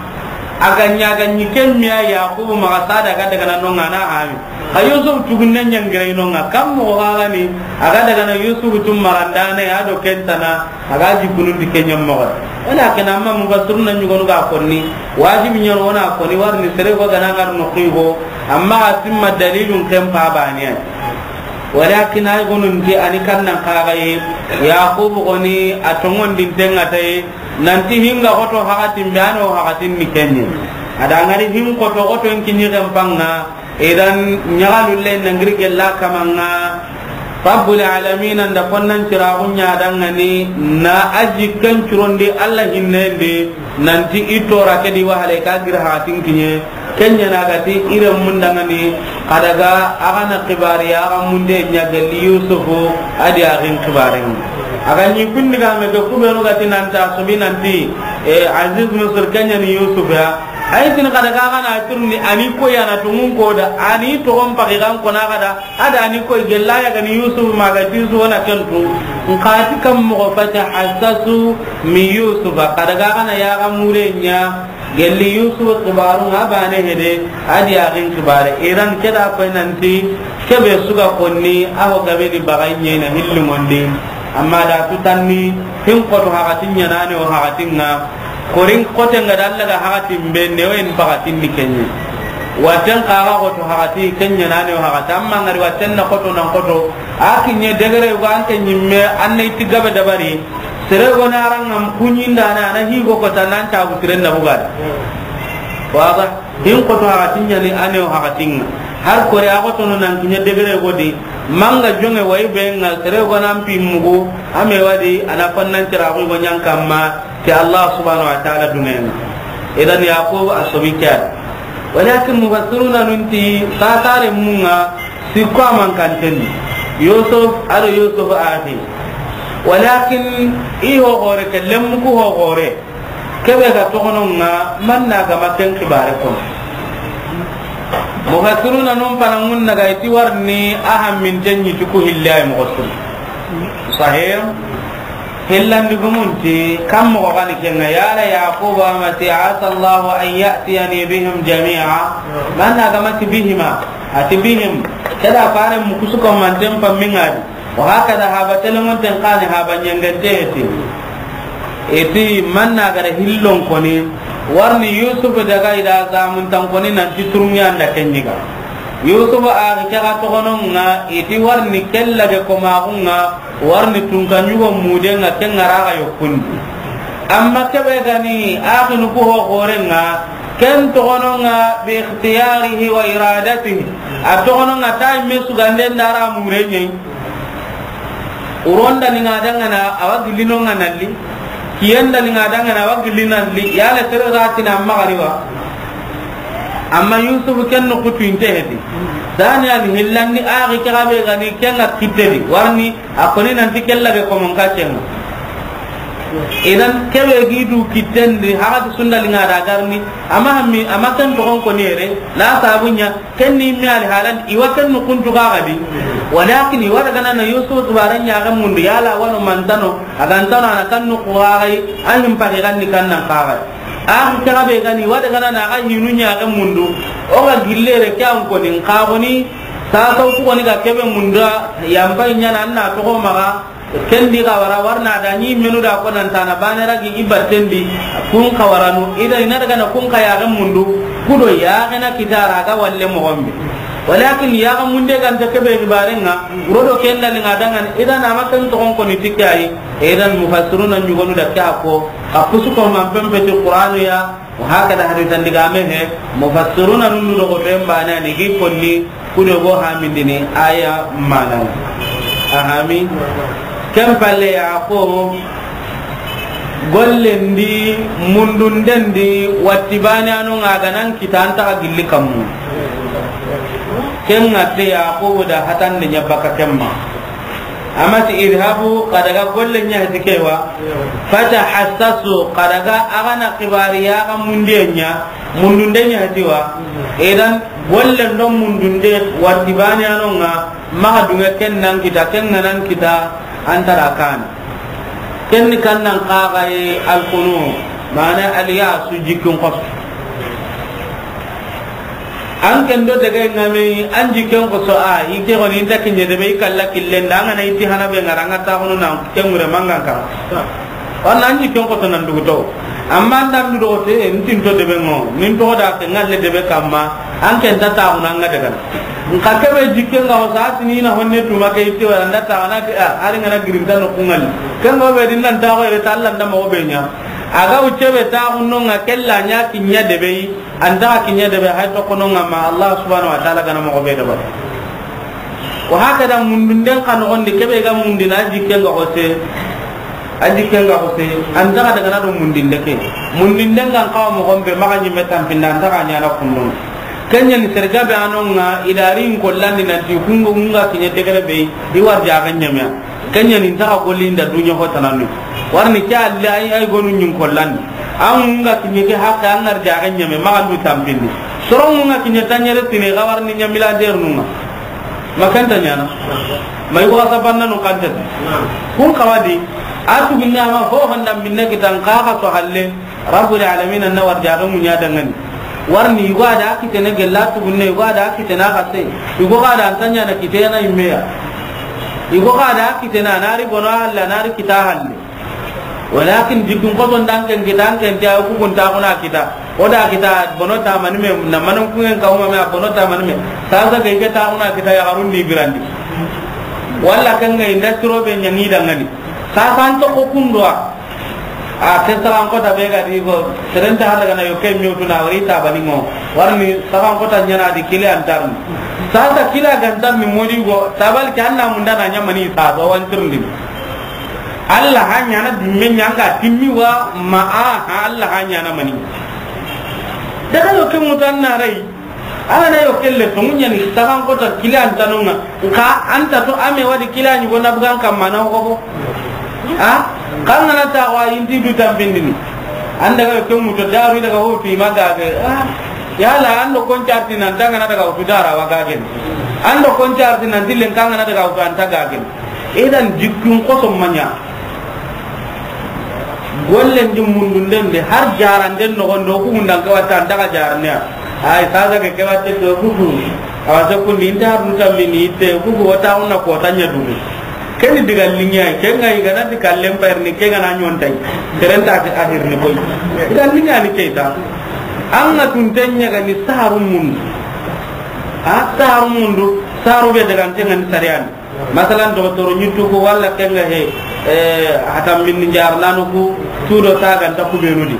aganya gani kemmiya Yaqubu maga sada ga daga nanonga na ami. Ka Yusuf tugunne ɲangira inonga, kam mo gagani, aga daga na Yusuf tum marandane, ado kentana, aga jikunun di kenya mogo. Wala kena amma mufassiruna ɲugonu ga konni, wajibi ɲoro wona konni, warni sere go gana ngar no xigo, amma asimma dalilun ken pa baniya. Walakin ay gonun di ani kannan kagaye, Yaqub goni a tongon din tenga tay, nanti hinga goto hakatin be ano hakatin ni kenye. Ada ngari hin koto goto en kinyi kan panga, Idan, ɲagalulle na ngiri gella kamanga, Rabbul Alamin anda konnan ciraxu ɲadangani, na a jikkan curondi Alla hinnendi, nanti i tora ke di wahale ka giri haxatin kiɲe, ken ɲana gati i renmundangani, xa daga a xa na xibari ya, a xa munde ɲa gelli Yusufu, a di a xin xibaren. A ga ɲi kundi ga me ke kubenu gati nanta sobi nanti, e, Aziz Misir ken ɲani Yusuf ya, Ay tin kada ga gana turni ani ko yana tungun ko da ani to on pagi gan ko na kada ada ani ko gella ya gani Yusuf ma ga tisu wana kentu. Nka ti kam mo fata hasasu mi Yusuf kada ga gana ya ga murenya gelli Yusuf kibaru nga bane hede adi ya gin kibare iran keda ko nanti kebe suga konni aho gabe di baganye na hillu mondi amma da tutanni hin ko to hakatin yana ne o hakatin nga Korin kote nga da Allah ga hakatin be ne o en pakatin ni kenye. Waten kaga koto hakati kenya na ne o hakati amma ngari waten na koto nan koto. A kinye degere yugo an ke nyimme an na iti gabe dabari. Sere go na ran ngam kunyinda na na higo kota nan tabu tiren na bugada. Waba hin koto hakatin nya ni ane o hakatin. Har kore a koto no nan kinye degere go di. Manga jonge wayi be nga sere go nan pi mugu ame wadi ana fannan tira go nyan kamma. Ke Allah subhanahu wa ta'ala dumen. Idan Yaqub a sobi ke. Walakin mufassiruna nunti tatare munga sikko aman kanten. Yusuf ado Yusuf ati. Walakin i ho gore ke lemmu ku ho gore. Kebe ga togononga manna ga maken kibare kono. Mufassiruna nun panangun naga iti warni ahammin tenyi tuku hille ay mufassir. Sahih. Hillandi gumunti kam mogo gani kenga yala Yaquba mati asa Allahu an ya'tiyani bihim jami'a. Manna ga mati bihima ati bihim. Keda fare mukusuko manten pammingadi. Wa hakada haba telengon ten kani haba nyangante eti. Eti manna ga da hillon koni warni Yusuf daga ida zamun tan koni nanti turungi anda kenyiga. Yusuf a ga kega togononga eti warni kella ge komagunga. Warni tunka ɲugo mudenga ken ŋaraga yokkundi. Amma kebe gani axinu ku ho xorenga ken toxononga bi ixtiyarihi wa iradatihi. A toxononga ta imme suganden dara mureɲei. Uronda ni ŋa dangana awa gillinonga nalli. Kiyenda ni ŋa dangana awa gilli nalli yala sere ratina amma gariwa. Amma Yusuf ken no kutu inte hedi. Dani an hillandi axi kexabe gani kenga kittedi warni A koni nanti kella ge komon ka cenga. Idan kebe gi du kitten di hagati sunda linga da garni ama hammi ama ken togon koni yere na sabunya ken ni mi ali halan iwa ken nu kuntu ga gadi. Walakin iwa daga na Yusuf tubaran ya ga mundu yala wano mantano agantano ana kan nu kuwagai an him pagi ganni kan nan kagai. An kaga be gani iwa daga na aga hinu nya ga mundu o ga gillere ke an koni ka koni. Sasa ku koni ga kebe munda, yampai ɲana an na toxo maxa, ken di xa wara, warna da ɲi menu da ko nan tana bane ragi i batten di, kun xa waranu, ida i na daga na kun xa yaxe mundu, kudo yaxe na kitara ga walle moxon be. Walakin yaxe munde ganta kebe xibarenga, rodo ken da linga dangan, ida na ma ken toxon koni tikkayi, idan mufassiruna ɲugonu da ke a ko, xa pusu ko man pempeti Qur'anu ya, Wa hakada hadisan digame he, mufassiruna nundu do ko to en bana ni gi konni kudo go hamindini aya manan. A hami. Ken palle ya ko gollen di, mundunden di, watti bane anu nga ga nan kita an ta gilli kammu. Ken nga te ya ko da hatan de ɲa baka kemma. Amma ti idhabu, xa daga golle ɲa heti ke wa. Fatahassasu, xa daga a ga na xibari ya ga mundiye ɲa, mundunde ɲa heti wa. Idan, golle ndo mundunde, watti bane ano nga, maxa dunge ken nan kita, ken nga nan kita, an ta ra kan. Ken ni kan nan xa ga ye alkunu, mana aliyasu jikkun xosu. An ken do daga ngame an jikken ko so a, i ke goni inta kinye de be i kalla killen da, an ga na iti hana be ngara nga ta hono na ken ngure mangan ka. Wan an jikken ko to nan dugu to. Amma an dan du do te, ntin to de be ngo, nin to da ke ngalle de be kamma, an ken ta ta hono nga daga. Nka ke be jikken ga wasa tini na honne tuma ke iti wala nda ta na ke a, ari ngana girinta no kungal. Ken go be din nan ta ko re ta Allah nda mo be ɲa. Aga ucce be ta hono nga kella ɲa kinya de be. An ta kiɲe de be hay to kono nga ma Allah subhanahu wa ta'ala gana mo be de ba. Wa hakada mundunden xa noxon di kebe ga mundina jikken ga xose. A jikken ga xose. An ta daga na do mundinde ke. Mundinden ga xa moxon be maxa ɲi me tampinda an ta ɲana kunno. Kenya ni serga be ano nga idari in kollandi nanti kungo nga kiɲe degere be i war jaga ɲamya. Kenya ni ta golli nda dunya ho tanani. Warni ke alle ay ay gonu ɲin kollandi. An nga kiɲe ke hakke an ngar jaga ɲame maxa ndu tampindi. Soron nga kiɲe tanyere tine ga warni ɲa milliardaire nunga. Makanta ɲana. Mai ko asa banna no kanta. Kun kawadi. Atu binna ma ho handa minne kitan ka ka to halle. Rabbul alamin na war jaga munya dangani. Warni yugo ada kitene gella tugunne, yugo ada kitene xase. Yugo ga da an ta ɲana kitena immeya. Yugo ga da kitene anari bono alla nari kita halle. Walakin jikkun xoton dan ken kita an ken ta ku kun ta kuna kita. O da kita bono ta mani me na manan kungen ka uma me bono ta mani me. Sasa ke ke ta kuna kita ya garun di birandi. Walla kan ga industry be ɲangi dangani. Sasa an to ko kundwa. A ke saxan kota be ga di go, seren ta hada gana yo ke mewtu na wari ta bani ngo. Warni saxan kota ɲana di kile antarni. Sasa kila gantarni modi go, tabal ke anna munda na ɲamani sa do wantirndi. Allah ha ɲana dimme ɲanga timmi wa ma a ha Allah ha ɲana mani. Daga yo ke mutan na rai. Ala na yo kelle to munya ni saxan kota kile antanonga. Nka anta to ame wadi kila ni gona bugan kamma na ko. Ha? Kan na ta wa inti du tambindini. Anda ga ke muto daru daga ho fi magage. Ah. Yala ando koncarti nan daga na daga ho dara wa gage. Ando koncarti nan dilen kan na daga ho anta gage. Idan jikkun xoso manya. Gollen di mundunden de har jaranden noxon do ku mundan ke watta an daga jarne. Ay saga ke ke watte do ku ku. Awa se kundi inta har muta mini itte ku ku wata unna ko tanya dugu. Keni diga linya ke ngai gana di kallen payar ni ke gana nyontai. Terenta ke akhir ni koy. Diga linya ni ke ta. An ga tun tanya ga ni saharu mundu. A saharu mundu, saharu be daga an tenga ni sariyan. Masalan, dogotoro ɲittu ku walla kenga he, eh, hatan minni jar nanu ku, tudo ta ganta ku benu di.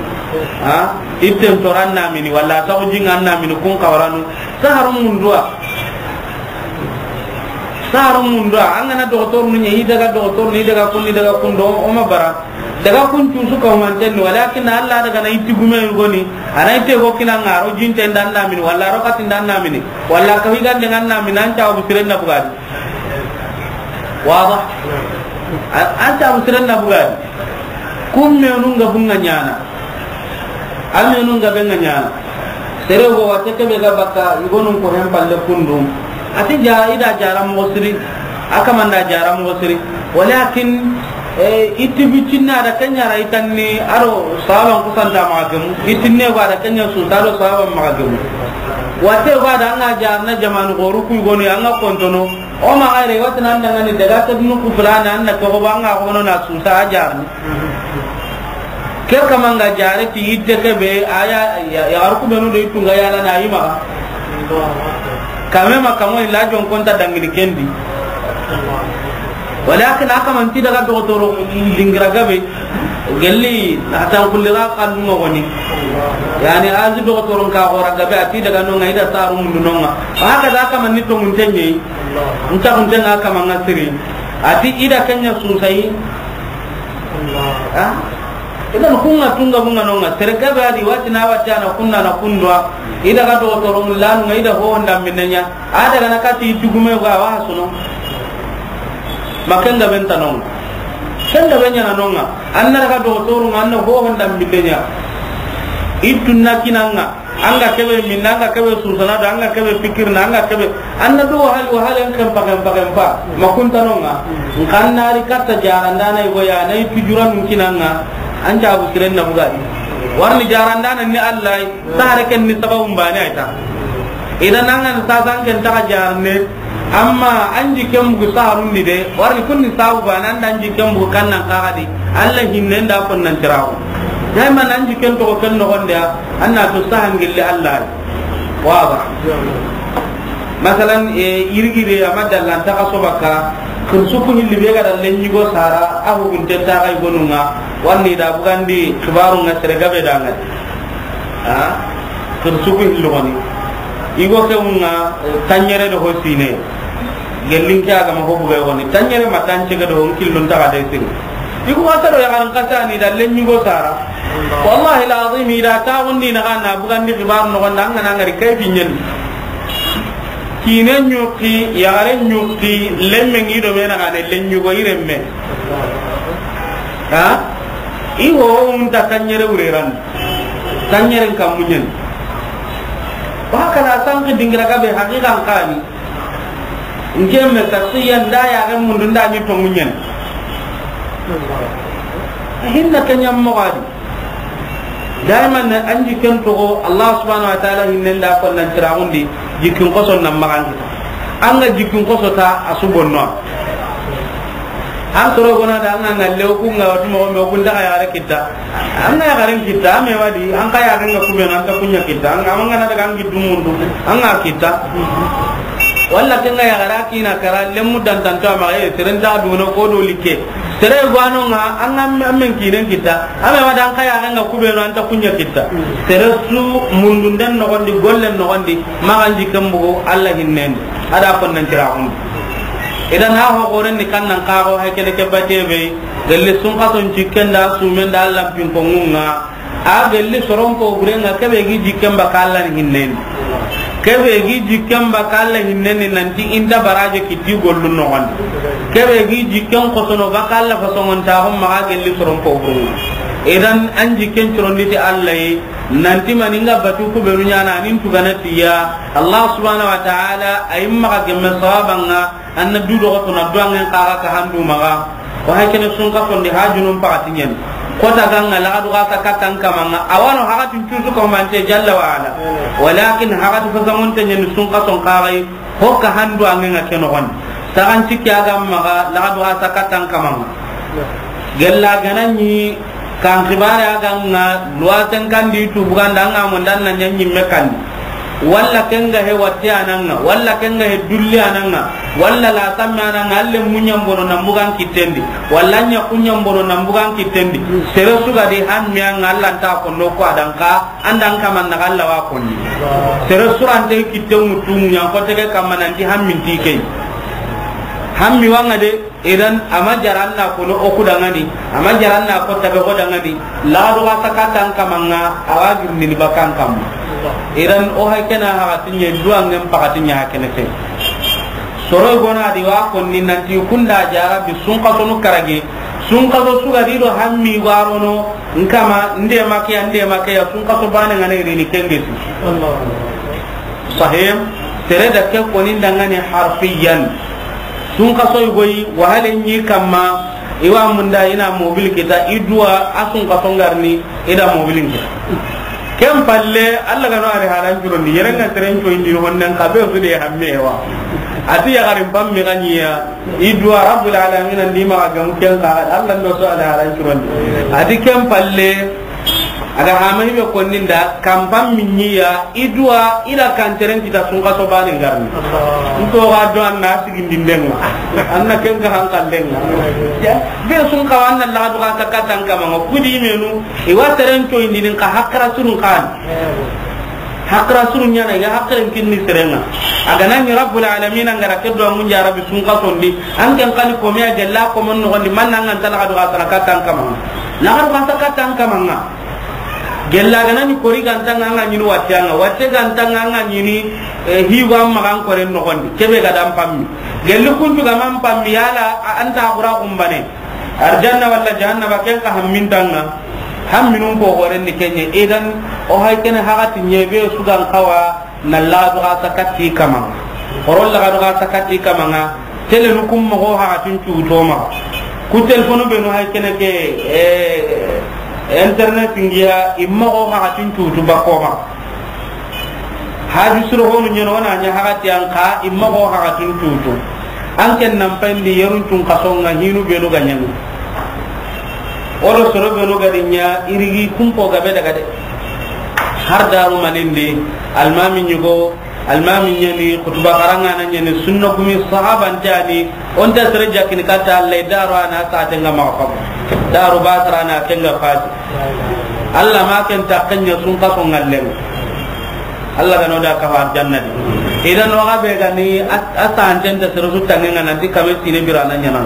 Ha? Itten toran na mini, walla ta ko jinga na mini kun kawaranu. Saharu mundua. Saharu mundua. An gana dogotoro ni, i daga dogotoro ni, i daga kun, i daga kun do, o ma bara. Daga kun cusu ka humanten ni, walakin Allah daga na itti gume goni. Ana itte go kina ngaro jinte ndan na mini, walla ro katin ndan na mini, walla ka higan dengan na mini, an ta bu siren na bugadi. Wada. An ta bu siren na bugadi. Kun menun ga bunga ɲana. An menun ga benga ɲana. Sere go wate kebe ga baka igonun ko hem palle kundu. Ati ja ida jara mo siri. Aka manda jara mo siri. Walakin, eh, iti bicinna da kenya ra itanni aro sahaban kusanta magemu. Itinne ba da kenya su taro sahaban magemu. Watte yogo a da an ga jarana jamanu xoru ku yogonu ya, an ga kontono. O ma xayre, watte nan daga ni daga ta dunu ku filana, an na ko ba an ga xono na susa a jarani. Ke kama nga jare ti itte ke be, a ya, ya, yaxaru ku benu do ittu nga yala na yi maxa. Kame ma kamo illa jon konta dangini kendi. Walakin a kaman ti daga dogotoro dingira gabe, gelli na tan kulli ga kan mo goni. Yani azi dogotoro ka gora gabe, a ti daga no nga ida saru mundu no nga. Haka da kaman ni to mun tenye. Nta kun tenga kaman nga siri. A ti ida kenya susai. Ha? Idan kunga tunga bunga nonga. Sere gabe a di wati na wati ana kunna na kundwa. Ida ga dogotoro mulanu nga ida ho honda minenya. A daga na kati tugume ga wa suno. Makenga benta nonga. Kenga benya na nonga. Anna daga dogotoro nga anna ho honda minenya. Itunna kinanga. An ga kebe minna, an ga kebe susana do, an ga kebe fikirna, an ga kebe, an na do wahali, wahali an kempa, kempa, kempa. Ma kunta nonga. Nkan na ri katta jarandana yogo ya, na yi tujura nun kinanga. An jabu siren na bugadi. Warni jarandana ni Allah, sahare ken ni sababu mbane ayta. Idan an ga sasa an ken ta jarne, Amma an jikken bugu saharundi de, wari kunni sabu bana, an da an jikken bugu kannan kaxadi, Allah hinnen da konnan tiraxu. Daiman an jikken toxo ken noxonde ya, an na to sahan gilli Allah. Waba. Masalan, e, yirigide, a ma dallan taxa sobaka, kirsuku hilli be ga da lenñigo sara, a hugunte taxa igonunga, warni da bugandi xibarunga sere gabe dangadi. Ha? Kirsuku hillu goni. Igo ke unga, eh, tanñere do ho sine. Gellin ke a ga ma ho buga goni. Tanñere ma tance ga do ho nkillun taga de sini. Igo ma sado ya garan kasani da lenñigo sara. Wallahi alazim, ida ta wondi na kana bugandi xibar no gonda an ga na ngari kayfi ñen. Kine ñuqi, yaxare ñuqi, lemme ngi do me na gane lenñigo iremme. Ha? Igo unta tanñere wureran. Tanñeren kammuñen. Wa kana sanki dingira gabe haqiqan kani. Ngemme ta siyan da ya ga mundu nda ni to muñen. Hinna kanyam mo gadi. Daiman ne an jikken toxo Allah subhanahu wa ta'ala hinnen da konnan tiraxundi, jikkin koson nan maxan kita. An ga jikkin koso ta a su bonno. An soro gona da an ga ngalle o kunga watu moxo me o kun daga yaxare kita. An ga yaxaren kita, a me wadi, an ka yaxaren ga kubenu, an ta kuña kita. An ga, an ga na daga an giddu mundu, an ga kita. Walla ken ga yaxare a kina kara, lemmu dantanto a maxa, e, seren ta duna ko do likke. Sere gwano nga, an ga men kinen kita. A me wadi an ka yaxaren ga kubenu, an ta kuña kita. Sere su mundunden noxondi, gollen noxondi, maxan jikken bugu, Allah hinnen. A da konnan tiraxundi. Idan ha ho goren ni kannan kaxo hay kene ke bate be, gelle sunkason cikken da sumen da Allah pinkongunga. A gelle soron ko gurenga kebe gi jikken ba kallan hinnen. Kebe gi jikken ba kallan hinnen nanti inta baraje kiti gollun noxondi. Kebe gi jikken kosono ba kalla fasongon ta hon maxa gelle soron ko gurenga. Idan an jikken curondi ti Allah yi, nanti maninga batu kubenu ñana nin tugana tiya. Allah subhanahu wa ta'ala, a yi maxa gemme sababanga, an na du doxo to na duwangen xaxa ka handu maxa. O hay kene sunkasondi ha junun paxati ñen. Kota ganga laxadu xa sa kattan kamanga. Awano haxatin cusu ko mante jalla wa ala. Walakin haxati fasamunte ñen sunkason xaxay. Hokka handu angenga ke noxon. Saxan cikki a ga maxa laxadu xa sa kattan kamanga. Gella gana ñi kan xibare a ga nga luwaten kandi tu buganda anga mo ndan na ñan ñimme kandi. Walla kenga he watte ananga, walla kenga he dulli ananga, walla la samme ananga, alle muñan bono nan bugan kittendi, walla ña kuñan bono nan bugan kittendi. Sere suga di hammi anga Allah nta ko no ko adanka. Andan kaman na galla wa konni. Sere surante kitte mutu muñan ko tege kamma nanti hammin ti key. Hammi wanga de, idan ama jaranna kono oku dangani, ama jaranna ko tabe ko dangani. La do ga sakatan kamanga awa girndini bakan kamma. Idan o hay kena ha tinye duangen pakatinya kene key. Soro gona di wa konni nanti kunda jara bi sunka sonu karage. Sunka so suga di do hammi warono. Nkama, nde makeya, nde makeya, sunkaso bane ngana irini kengesi. Sahim, tere da ke koni ndangani harfiyan. Sunkaso igoyi, wahale nyi kamma, iwa munda ina mobil kita, idua a sunkaso ngarni, ida mobil kita. Ken palle, Alla ga no a ri halan curondi, yere nga seren coyindini honnen xa be su de hamme wa. A ti yaxarin pammi ga ɲi ya, i duwa Rabbul Alamin ndi maxa gamu ken xa, Alla ndo so a ri halan curondi. A ti ken palle, a ga hama hibe konni nda, kan pammi ɲi ya, i duwa i da kan teren kita sunkaso bane ngarni. Nto ga do an na sigindindenga, an na ken ga hankallenga. Ya, be sun xa wa an na laxadu xa sakatan kamanga, kudi menu, i wa seren coyindini xa hakra surun xan. Hakra surun ɲana, i ga hakren kinni serenga. A ga na ɲi Rabbul Alamin an ga ra ke do an gunja Rabbi sunkasondi, an ken xani ko me a gella ko mon noxondi, man nan an ta laxadu xa sakatan kamanga. Laxadu xa sakatan kamanga. Gella ga na ni kori ganta nga nga ɲini watte anga, watte ganta nga nga ɲini, eh, hiwa magan koren noxondi. Kebe ga dan pammi. Gelli kuntu ga man pammi yala a anta xura kumbane. Arjanna walla jahannaba ken ka hammintanga. Hamminun ko goren ni kenye. Idan o hay kene hagati nyebe sugan kawa. Na laxadu xa sakati kamanga. Horo laxadu xa sakati kamanga. Tele nu kum moxo haxatin cuto maxa. Ku telefonu benu hay kene ke, eh, internet ngiya i moxo haxatin cutu bakko maxa. Haju suro honu ɲeno wana ɲa haxati an xa i moxo haxatin cutu. An ken nan payndi yerun cun kasonga hinu benu ga ɲanu. Oro soro benu ga di ɲa irigi kumpo gabe daga de. Har daru manindi, almami ɲugo, almami ɲani, kutuba karanga na ɲani, sunna kumi sahaba ntani, onta sere jakini kata Allah daro ana sate nga ma fa. Daru basara na kenga fati. Allah ma ken ta kenya sun kaso ngallen. Allah ga no da kafa arjanna di. Idan no ga be ga ni a, a santen da sere su tangenga nan di kame sine birana ɲana.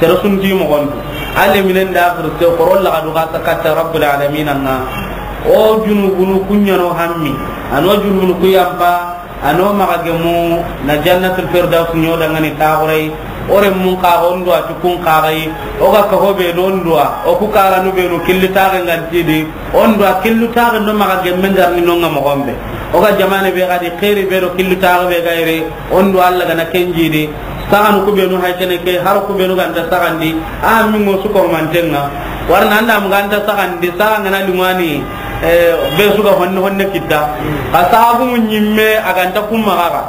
Sere sun di mo gonto. Alle minen da akhir te koro laxadu xa sakata Rabbul Alamin anga. O junubunu kuɲano hammi. Ano junubunu kuyampa. Ano maxa gemu na Jannatul Firdaus ɲo dangani taxurai. Ore mun xa ondo ati kun xaxai. O ga ka hobe do ndua. O ku karanu be no killi taxe ngantidi. Ondo a killu taxe ndo maxa gemme ngarni nonga moxombe. O ga jamane be gadi xeri be do killu taxe be gaire. Ondo Allah gana kenjidi. Saxanu ku benu hay kene ke, har ku benu ganta saxandi. A mingo su ko mantenga. Warna anda mun ganta saxandi, saxa ngana limani, eh, be su ga honne honne kitta. Ka saxu mun nyimme a ganta kumma gaga.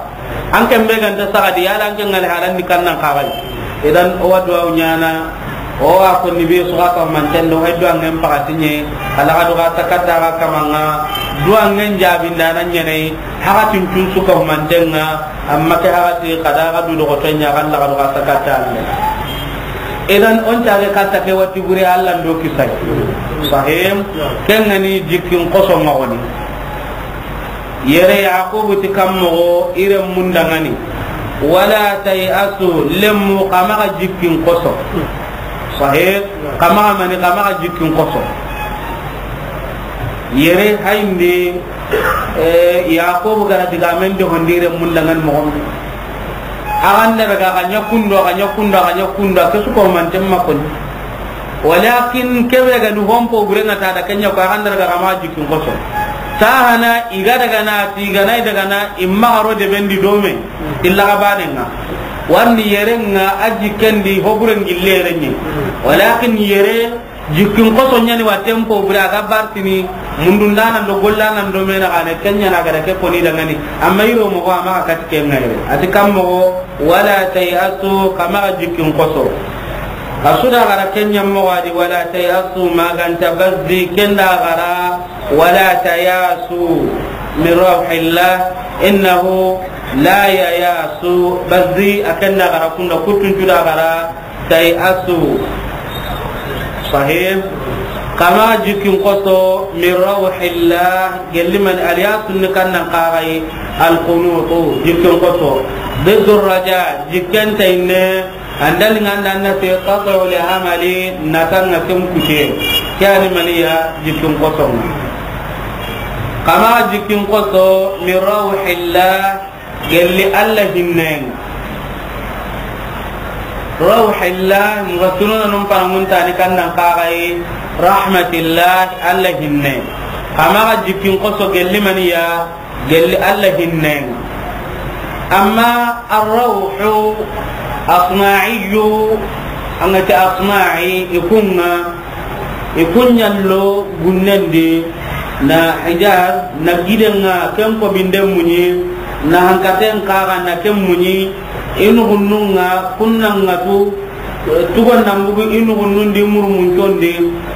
An ken be ganta saxadi, yala an ken ŋali halan ni kannan xaxay. Idan o wa duwawu ɲana, o wa ko ni be su ga ka manten do, hay duwangen pakati ɲe, ala ga do ga sakata ga kamanga, duwangen jabindana ɲene, hakatin tun su ka mantenga, amma ke hakati kada ga du do ko tenya kan la ga do ga sakata. Idan on ta ga kata ke wati bure Allah ndo kisay. Sahim, ken ngani jikkin koso magoni. Yere Yaqubu ti kammoxo i renmun dangani. Wala tayasu, lemmu xa maxa jikkin koso. Sahih, xa maxa mani, xa maxa jikkin koso. Yere hayndi, eh, Yaqubu gara digamen de hondi i renmun dangani moxon. Axan da daga xa ɲa kundo, xa ɲa kundo, xa ɲa kundo, ke su ko manten ma koni. Walakin kebe ga ni hompo bure nga ta da kenya ko axan da daga xa maxa jikkin koso. Tahana i ga daga na, ti ga na i daga na, i maxa ro de bendi dome. Illa ga bane nga. Warni yere nga a jikkendi ho bure ngille yere ni. Walakin yere jikkin koso ɲani wa tempo bure a ga bartini mundundana ndo gollana ndo mena gane kenya na ga da ke koni dangani. Amma i ro moxo a maxa kati ke nga yere. Ati kammoxo. Wala tayasu, xa maxa jikkin koso. Xa su da gara kenya moxo a di, wala tayasu, maganta bazzi, ken da gara, wala tayasu, min rawhillah, innahu la yayasu, bazzi, a ken da gara kunda, kuttun cu da gara, tayasu. Sahih. Xa maxa jikkin koso, min rawhillah, gelli man aliyasun ni kannan xaxay, alqunutu, jikkin koso. Diddu raja, jikken tayne, andal nganda na fi qat'u li amali, na tanga tum kute. Kani maniya jikkin koso. Xa maxa jikkin koso, min rawhillah, gelli Allah hinnenga. Rawhillah, mufassiruna num pananguntani kannan xaxay, rahmatillah, Allah hinne. Xa maxa jikkin koso gelli maniya, gelli Allah hinnenga. Amma arrawhu asma'iyu, angati asma'i ikunga, ikunyallo gunnendi, Na Hijaz, na giden ŋa, ken ko binden muɲi, na hankaten kaga na ken muɲi, i nuxunnun ŋa, kunnan ŋa tu, tugon nan bugu i nuxunnun di murumuncon di,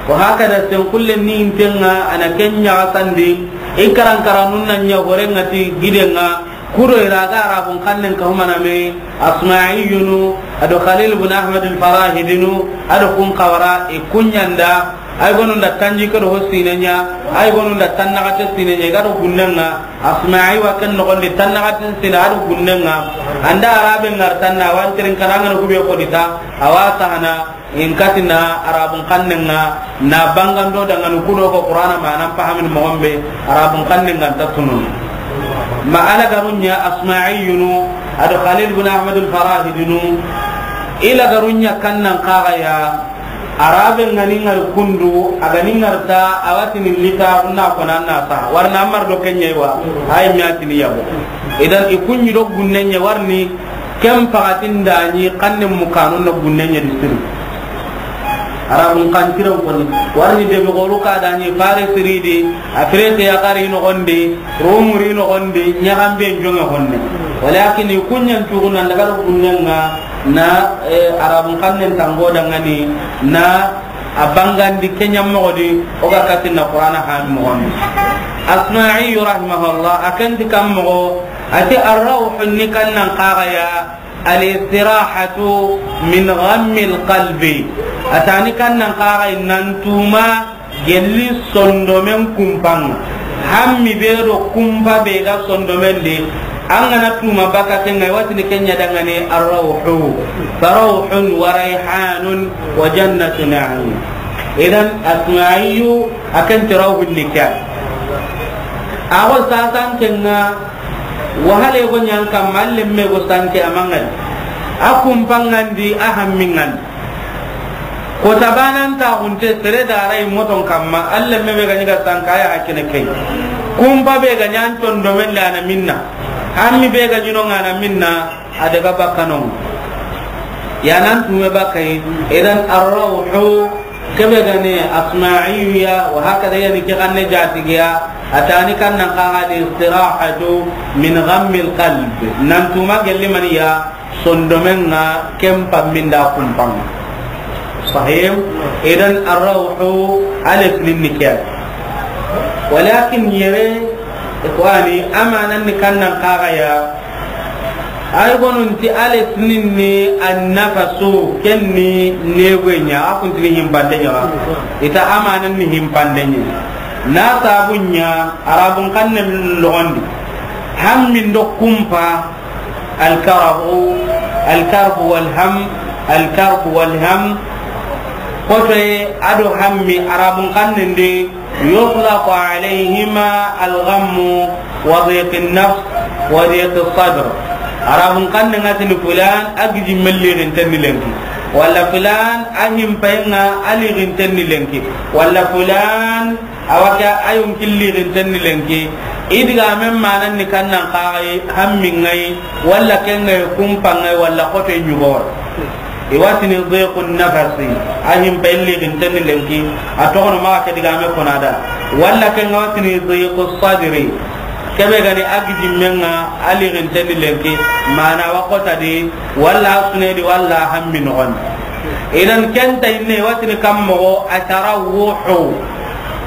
wa hakada sen kullen ni inten ŋa, a na ken ɲaxasandi, i karankaranun na ɲa horen ŋa ti giden ŋa, Kudo i ra ga Arabun xannen ka humana me, Asma'iyunu, a do Khalil ibn Ahmad al-Farahidinu, a do kun xawara, i kuɲanda, ay gonu nda tanji ke do ho sine ɲa, ay gonu nda tannaxate sine ɲa, i ga do gunnen ŋa, Asma'i wa ken noxon di tannaxate sine a do gunnen ŋa, an da Arabe ŋa ri tanna, a wa n tirin kana ŋa na hube xo di ta, a wa sahana, In katina Arabun xannen ŋa na bangando dangani kudo ko Qur'ana manan fahamin moxon be, Arabun xannen ŋa nta tunun. Ma a lagarun ɲa Asma'iyunu, a do Khalil bin Ahmad al-Farahidinu, i lagarun ɲa kannan kaga ya, Arabe ŋa ni ŋari kundu, a ga ni ŋarta, a wa tini lita, unna ko nan na sa, warna mar do ken ɲa wa, ay mi a tini yabo. Idan i kuɲi do gunnen ɲa warni, Ken pakatin da ɲi xannen mu kanun na gunnen ɲa di siri. Arabun xantiren koni. Warni debe xoru ka da ɲi Faris ri di, Afirike ya xari noxon di, Rumu ri noxon di, ɲaxambe jonge honne. Walakin i kuɲan tugu nan daga gunnen ŋa na, eh, Arabun xannen tango dangani na a bangandi ke ɲa moxo di, o ga katin na Qur'ana han moxon di. Asma'i rahimahullah, a ken ti kan moxo, A ti arrawhu ni kannan kaga ya, al-istirahatu min ghammil qalbi. A ta ni kannan kaga ya nan tuma gelli sondomen kumpan ŋa. Hammi be do kumpa be ga sondomen di, an ga na tuma baka ken ŋa, i wa tini ken ɲa dangani arrawhu. Farawhun wa rayhanun wa jannatu na'im. Idan Asma'iyu a ken ti rawhun ni ke ya. A go sasan ken ŋa, Wahale go ɲan kamma, a lemme go sanke a mangani. A kumpa ŋa ndi, a hammi ŋa ndi. Ko tabanan ta hunte sere da rai moton kamma, a lemme be ga ɲi ga sanka ya hakene kai. Kumpa be ga ɲan ton do men da na minna. Hammi be ga ɲi no ŋa na minna, a daga bakano. Ya nan tume bakai, idan arrawhu Kebe gane Asma'iyu ya, wa hakada yani ke ganne jatigiya, a ta ni kannan kaga di istirahatu min ghammil qalb. Nan tuma gelli maniya, sondomen ŋa ken pamminda kumpan ŋa. Sahih? Idan arrawhu alif lin nikyan. Walakin yere, ikhwani, amanan ni kannan kaga ya, Ay gonun ti ale tinin ni annafasu, ken ni newe ɲa, a kun tini himpande ɲa. Ita amanan ni himpande ɲa. Na sabu ɲa, Arabun xannen logondi. Hammin do kumpa, alkarahu, alkarbu walham, alkarbu walham. Kotoye, a do hammi, Arabun xannen di, يطلق عليهما الغم وضيق النفس وضيق الصدر. Arabun xannen ŋa tini fulan a gijimmen liginten ni lenki, walla fulan a himpayen ŋa a liginten ni lenki, walla fulan a wa ke a yonkin liginten ni lenki. I digamen manan ni kannan kaga yi, hammin ŋa yi, walla ken ŋa yi, kumpan ŋa yi, walla xote ɲugo. I wa tini diqun nafasi, a himbe liginten ni lenki, a togono maxa ke digame kona da. Walla ken ŋa wa tini diqus sadri, kebe gani a gijimmen ŋa a liginten ni lenki, mana wa xota di, walla a sune di, walla a hammi noxon. Idan ken ta inne wa tini kam moxo a tarawuhu.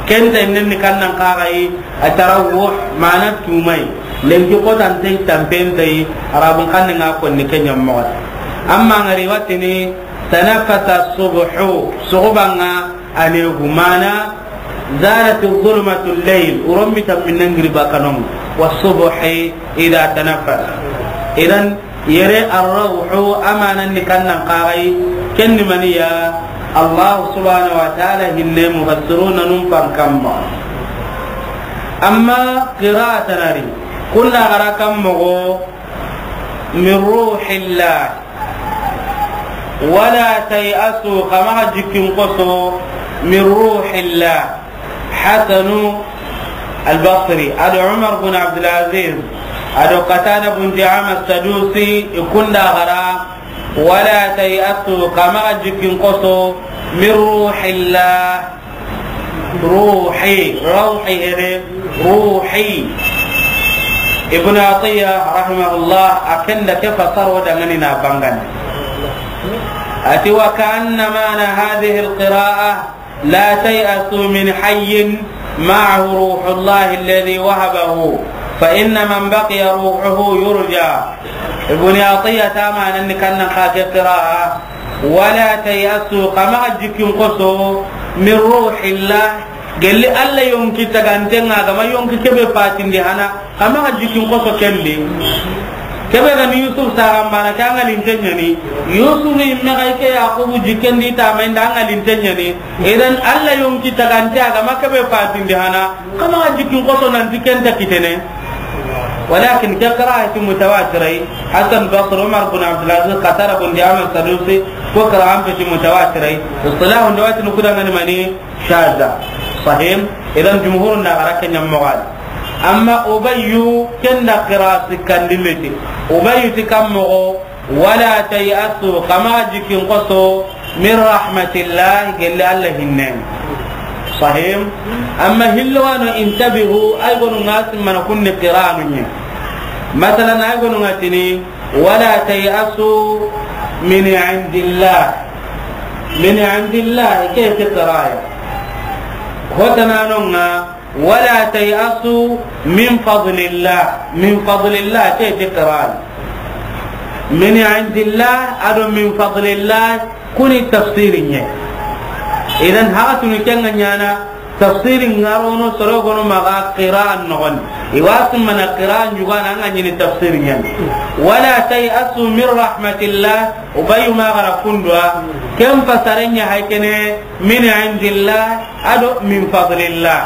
Ken ta inne ni kannan kaga yi, Atarawuh, mana tumai. Lenki xotante tampentei, Arabun xannen ŋa konni ke ɲa moxo. Amma ŋa ri wa tini, tanafasa subhu, suxuban ŋa a ne hu, mana, zalati zulmatu layl, uron mi tamminnen giri bakanon, wa subhi ida tanafas. Idan, Yere arrawhu amanan ni kannan kaga yi, ken ni maniya, Allah subhanahu wa ta'ala hinne mufassiruna nun pan kamma. Amma qira'atan ari, kunna gara kam moxo, min ruhillah. Wala tay'asu, xa maxa jikkin xoso, min ruhillah. Hasanu Al-Basri, a do Umar bun Abdul Aziz, a do Qatada bun Di'ama Sadusi, i kunda gara, wala tay'asu, xa maxa jikkin xoso, min ruhillah, Ruhi, rawhi here, ruhi. Ibn Atiyya rahimahullah, a ken da ke fasaro dangani na bangandi. A ti, "Wa ka'anna ma'na hadhihi al-qira'a, la tay'asu min hayyin ma'ahu ruhullahi alladhi wahabahu, fa inna man baqiya ruhuhu yurja." Ibn Atiyya ta manan ni kannan ka ke qira'a, "Wala tay'asu, xa maxa jikkin xoso, min ruhillah, gelli Alla yonki taganten ŋa, a ga ma yonki kebe fatindi hana, xa maxa jikkin xoso ken di." Kebe ga ni Yusuf saxan bana, ke an ŋa linten ɲa ni. Yusuf i me ga i ke Yaqubu jikken di ta ma inda, an ŋa linten ɲa ni. Idan Alla yonki tagante, a ga ma kebe fatindi hana, xa maxa jikkin xoso nanti ken ta kitene. Walakin ke qira'a ti mutawatirai. Hasan Basri, Umar bin Abdul Aziz, Qatada bin Di'ama Sadusi, ko qira'a an peti mutawatirai. Istilahu nda wati nukuda ngani mani shaza. Sahih. Idan jumhur na gara ken ɲa moxo di. Amma Ubayyu ken da qira'a sikkandi leti. Ubayyu ti kan moxo, "Wala tay'asu, xa maxa jikkin xoso, min rahmatillah, gelli Alla hinnen." Sahih. Amma hillo wano, intabihu, ay gonu ŋa simmana kunni qira'anu ɲa. Masalan, ay gonu ŋa tini, "Wala tay'asu min indillah." Min indillah, ke ti qira'a. Hotananon ŋa, "Wala tay'asu min fadlillah." Min fadlillah, ke ti qira'a. Min indillah, ado min fadlillah, kuni tafsiri ɲa. Idan haxatunu ken ŋa ɲana, tafsiri ŋarono soro gono maxa qira'a noxon di. I wa simmana qira'a ɲugana an ga ɲini tafsiri ɲa. "Wala tay'asu min rahmatillah", Ubayyu ma gara kundwa, ken fasaren ɲa haykene, "Min indillah", ado "Min fadlillah".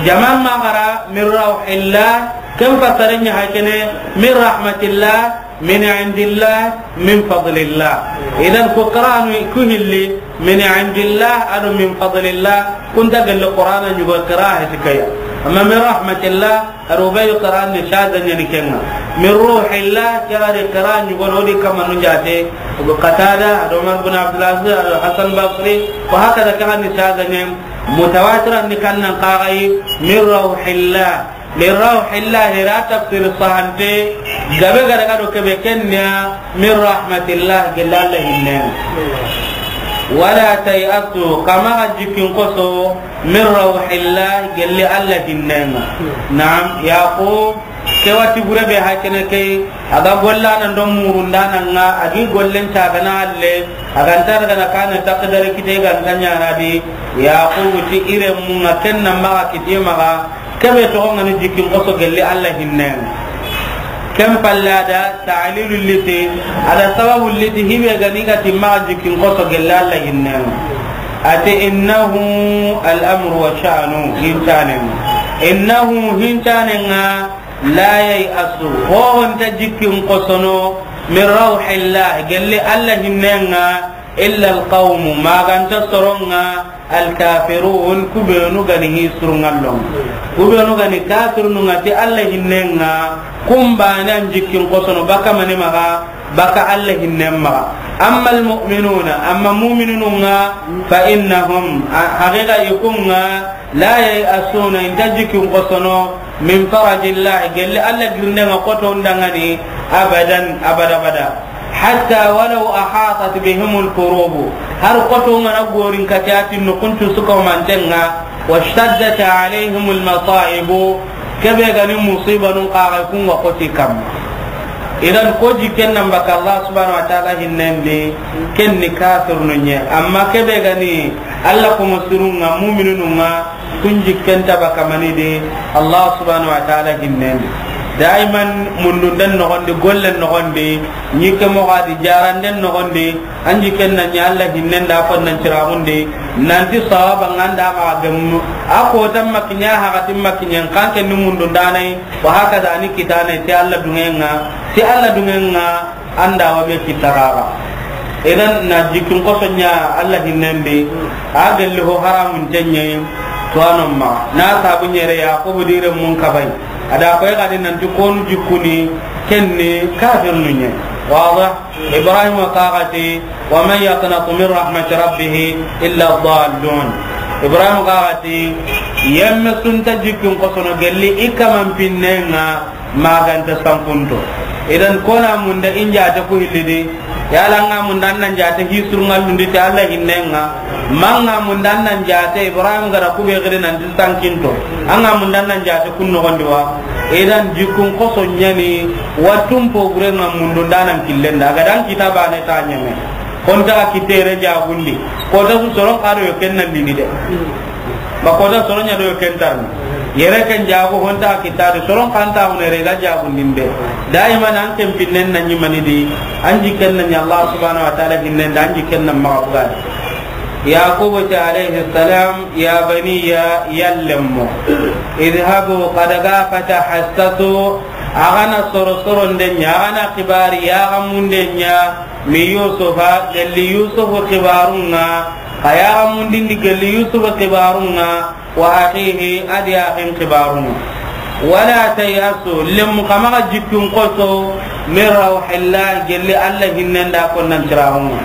Jaman ma gara, "Min rawhillah", ken fasaren ɲa haykene, "Min rahmatillah", "Min indillah", "Min fadlillah". Idan ko qira'anu ku hilli, "Min indillah", ado "Min fadlillah", kun ta gelli Qur'ana ɲugo qira'a heti kaya. Amma "Min rahmatillah", ado Ubayyu qira'an ni shaza ɲa ni ken ŋa. "Min ruhillah", ke ga di qira'a ɲugo no di kamanu jate. Abu Qatada, ado Umar bin Abdul Aziz, ado Hasan Basri, wa hakada, ke ga ni shaza ɲa. Mutawatiran ni kannan xa ga yi, "Min rawhillah". "Min rawhillah", hira tafsir sahante, gabe ga daga do kebe ken ɲa, "Min rahmatillah", gelli Alla hinnen ŋa. "Wala tay'asu", xa maxa jikkin xoso, "min rawhillah", gelli Alla hinnen ŋa. Naam, Yaqub, ke wati bure be haykene ke, a ga gollana ndo murundana ŋa, a gi gollen ta gana alle, a ga nta daga na kana takdare kite ga nta ɲana di, Yaqub ti irenmu ŋa ken na maxa kite maxa, kebe toxo ŋa ni jikkin xoso gelli Alla hinnen ŋa. Ken palle a da ta'lilu liti, a da sababu liti, hibe ga ni ga ti maxa jikkin xoso gelli Alla hinnen ŋa. A ti, "Innahu al-amru wa sha'nu", hincanen ŋa. "Innahu", hincanen ŋa, "la yay'asu", ho ho nta jikkin xosono, "min rawhillah", gelli Alla hinnen ŋa, "illa al-qawmu", ma ga nta soron ŋa, "al-kafirun", ku benu ga ni hi surunŋallon. Ku benu ga ni kafirunu ŋa ti Alla hinnen ŋa, kun baane an jikkin xosono baka mani maxa, baka Alla hinnen maxa. "Amma al-mu'minuna", amma mu'minunu ŋa, "fa innahum", a, haqiqa i kun ŋa, "la yay'asuna", i nta jikkin xosono, "min farajillah", gelli Alla girinde ŋa xoto nda ŋa ni, "abadan", abada bada. "Hatta walaw ahatat bihimul kurubu", har xoto ŋa na gorin kati a ti no kuncu suka manten ŋa, "washtaddat alayhimul masaibu", kebe ga ni musibanun xa ga kun ŋa xoti kamma. Idan ko jikken nan baka Allah subhanahu wa ta'ala hinnen di, ken ni kafirunu ɲa. Amma kebe ga ni Alla ko musurun ŋa, mu'minunu ŋa, kun jikken ta baka mani di, Allah subhanahu wa ta'ala hinnen di. Daiman mundunden noxon di, gollen noxon di, ɲikke moxo a di, jaranden noxon di, an jikken na ɲa Alla hinnen da, kon nan ciraxun di, nanti sawaba ŋa nda maxa gemu, a kotan ma kiɲa, hakatin ma kiɲen, kan ken ni mundundanayi, wa hakaza ni kitanayi, ti Alla dungen ŋa, ti Alla dungen ŋa, an da wa be kita xaxa. Idan na jikkin xoso ɲa Alla hinnen di, a gelli ho haramun tenɲe, to anon ma. Na sabu ɲere Yaqubu direnmun kabay. A da koy xadi nanti konu jikkuni, ken ni kafirunu ɲa. Wadah? Ibrahima xa ga ti, "Wa man yaqnatu min rahmati rabbih illa ad-dallun." Ibrahim ga ti, yemme su nta jikkin xosono gelli i kaman pinnen ŋa, ma ga nta sankunto. Idan, ko na munda in jaate ku hilli di, yala an ga munda an nan jaate hi surungallundi ti Alla hinnen ŋa, ma an ga munda an nan jaate Ibrahim ga da ku be xiri nanti sankinto, an ga munda an nan jaate kun noxon di wa. Idan, jikkin xoso ɲa ni, wa tun po gure ŋa mundu nda nan killen da, a ga da an kita baane ta ɲeme. Honta kitte yere jagundi. Kota su soron xa do yo ken nan dini de. Ba kota soron ɲa do yo ken tarni. Yere ken jagu honta kitta de soron xa nta hune re ga jagundinde. Daiman an ken pinnen na ɲi mani di. An jikken na ɲa Allah subhanahu wa ta'ala hinnen da an jikken na maxa buga de. Yaqubu ti alayhi salam, ya baniya, yallemmo. Idhabu, xa daga, fatahassasu, a ga na soro soronde ɲa, a ga na xibari ya ga munde ɲa, min Yusufa, gelli Yusufu xibarun ŋa, xa ya ga mundindi gelli Yusufu xibarun ŋa, wa akhihi, a di axin xibarun ŋa. Wala tayasu, lemu xa maxa jikkin xoso, min rawhillah, gelli Alla hinnen da konnan tiraxun ŋa.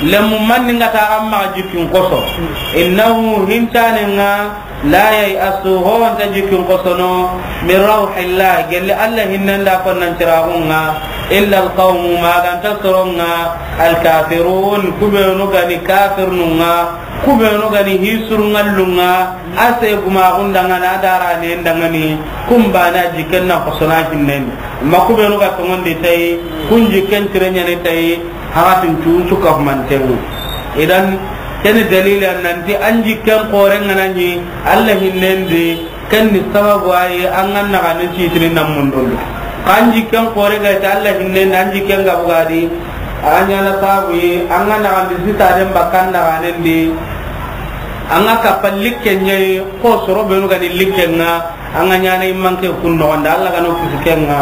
Lemu manni nga ta xa maxa jikkin xoso. Innahu, hintanen ŋa, la yayasu, ho nta jikkin xosono, min rawhillah, gelli Alla hinnen da konnan tiraxun ŋa, illa alqawmu, ma ga nta soron ŋa, alkafirun, ku benu ga ni kafirnun ŋa, ku benu ga ni hi surungallun ŋa, a se gumaxun da ŋa ni, a daranen da ŋa ni, kun baane jikken na xosona hinnen. Ma ku benu ga tongondi tayi, kun jikken tire ɲa ni tayi, haxatin cu su ka humanten ŋa. Idan, ken ni dalili a nanti an jikken xoren ŋa na ɲi Alla hinnen di, ken ni sababu ayi an ga na xa ni sitini nan mundun di. Xa an jikken xore ga ti Alla hinnen di, an jikken ga buga di, a ɲa na sababu yi an ga na xa ni sitaden bakkan na xa nen di. An ga kappa likken ɲa yi, ko soro benu ga ni likken ŋa, an ga ɲaana i manke kun noxon da, Alla ga no kisi ken ŋa,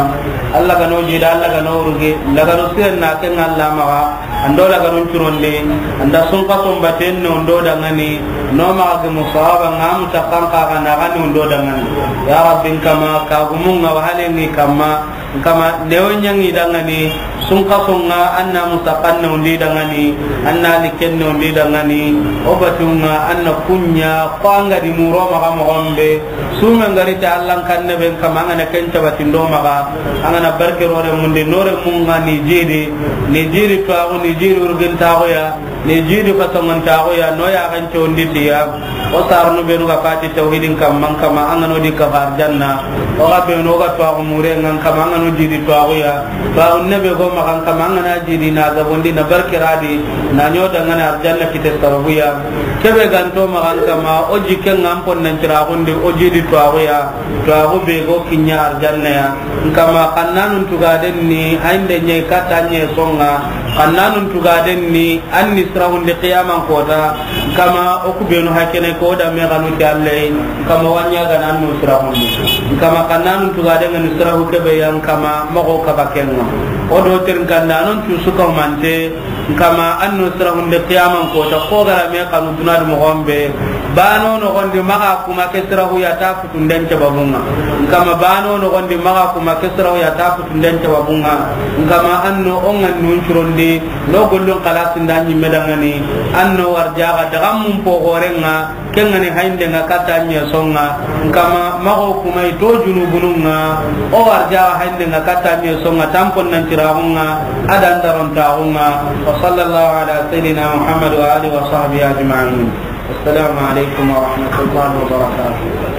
Alla ga no jida, Alla ga no rugi, lagaro siren na ken ŋa Alla maxa, an do lagarun curonde, an da sunkason baten no ndo da ŋa ni, no maxa gemu sawaba ŋa, mutakkan xa ga na xa ni ndo da ŋa ni. Ya Rabbi, n kama, ka gumun ŋa wahalen ŋi kamma, n kama, newo ɲa ŋi da ŋa ni, sunkason ŋa, an na mutakkan no ndi da ŋa ni, an na likken no ndi da ŋa ni, o batun ŋa, an na kun ɲa, ko an ga di muro maxa moxon be, Sumen ga ri ti Alla n kanne be, n kama, an ga na ken cabati ndo maxa, an ga na barke ro remun di, no remun ŋa ni jidi, ni jidi tuwaxu, ni jidi urgintaxu ya, ni jidi fasongontaxu ya, no yaxen condi ti ya. O saranu benu ga fati tawhidin kamma, n kama, an ga no di kafa arjanna. O ga benu o ga tuwaxu mure ŋa, n kama, an ga no jidi tuwaxu ya. Ba unne be go maxa, n kama, an ga na jidi na gabondi na barke ra di, na ɲo da ŋa ni arjanna kite sababu ya. Kebe ga nto maxa, n kama, o jikken ŋa n ponnan ciraxun di, o jidi tuwaxu ya, tuwaxu be go kiɲa arjanna ya. N kama, xannanun tugaden ni hayinde ɲa i katta ɲe son ŋa, xannanun tugaden ni an ni siraxundi qiyaman kota. N kama, o ku benu hakene ko da me xanu ti Alla yi. N kama, wa ɲa ga na an no siraxundi. N kama, xannanun tugaden ŋa ni siraxu kebe ya, n kama, moxo kaba ken ŋa. O do terin kandanon cu su ka humante, n kama, an no siraxundi qiyaman kota, ko ga ra me xanu duna di moxon be. Bano noxon di maxa kuma ke siraxu ya ta futunden cababun ŋa. N kama, bano noxon di maxa kuma ke siraxu ya ta futunden cababun ŋa. N kama, an no o ŋa nun curondi, no gollun xalasin da ɲimme da ŋa ni, an no warjaxa daga mun po xoren ŋa, ken ŋa ni hayinde ŋa katta ɲe son ŋa. N kama, maxo kuma i to junubunun ŋa, o warjaxa hayinde ŋa katta ɲe son ŋa, ta n ponnan ciraxun ŋa, a da n darontaxun ŋa. Wa sallallahu ala sayyidina Muhammad wa alihi wa sahbihi ajma'in. Assalamu alaikum wa rahmatullahi wa barakatuh.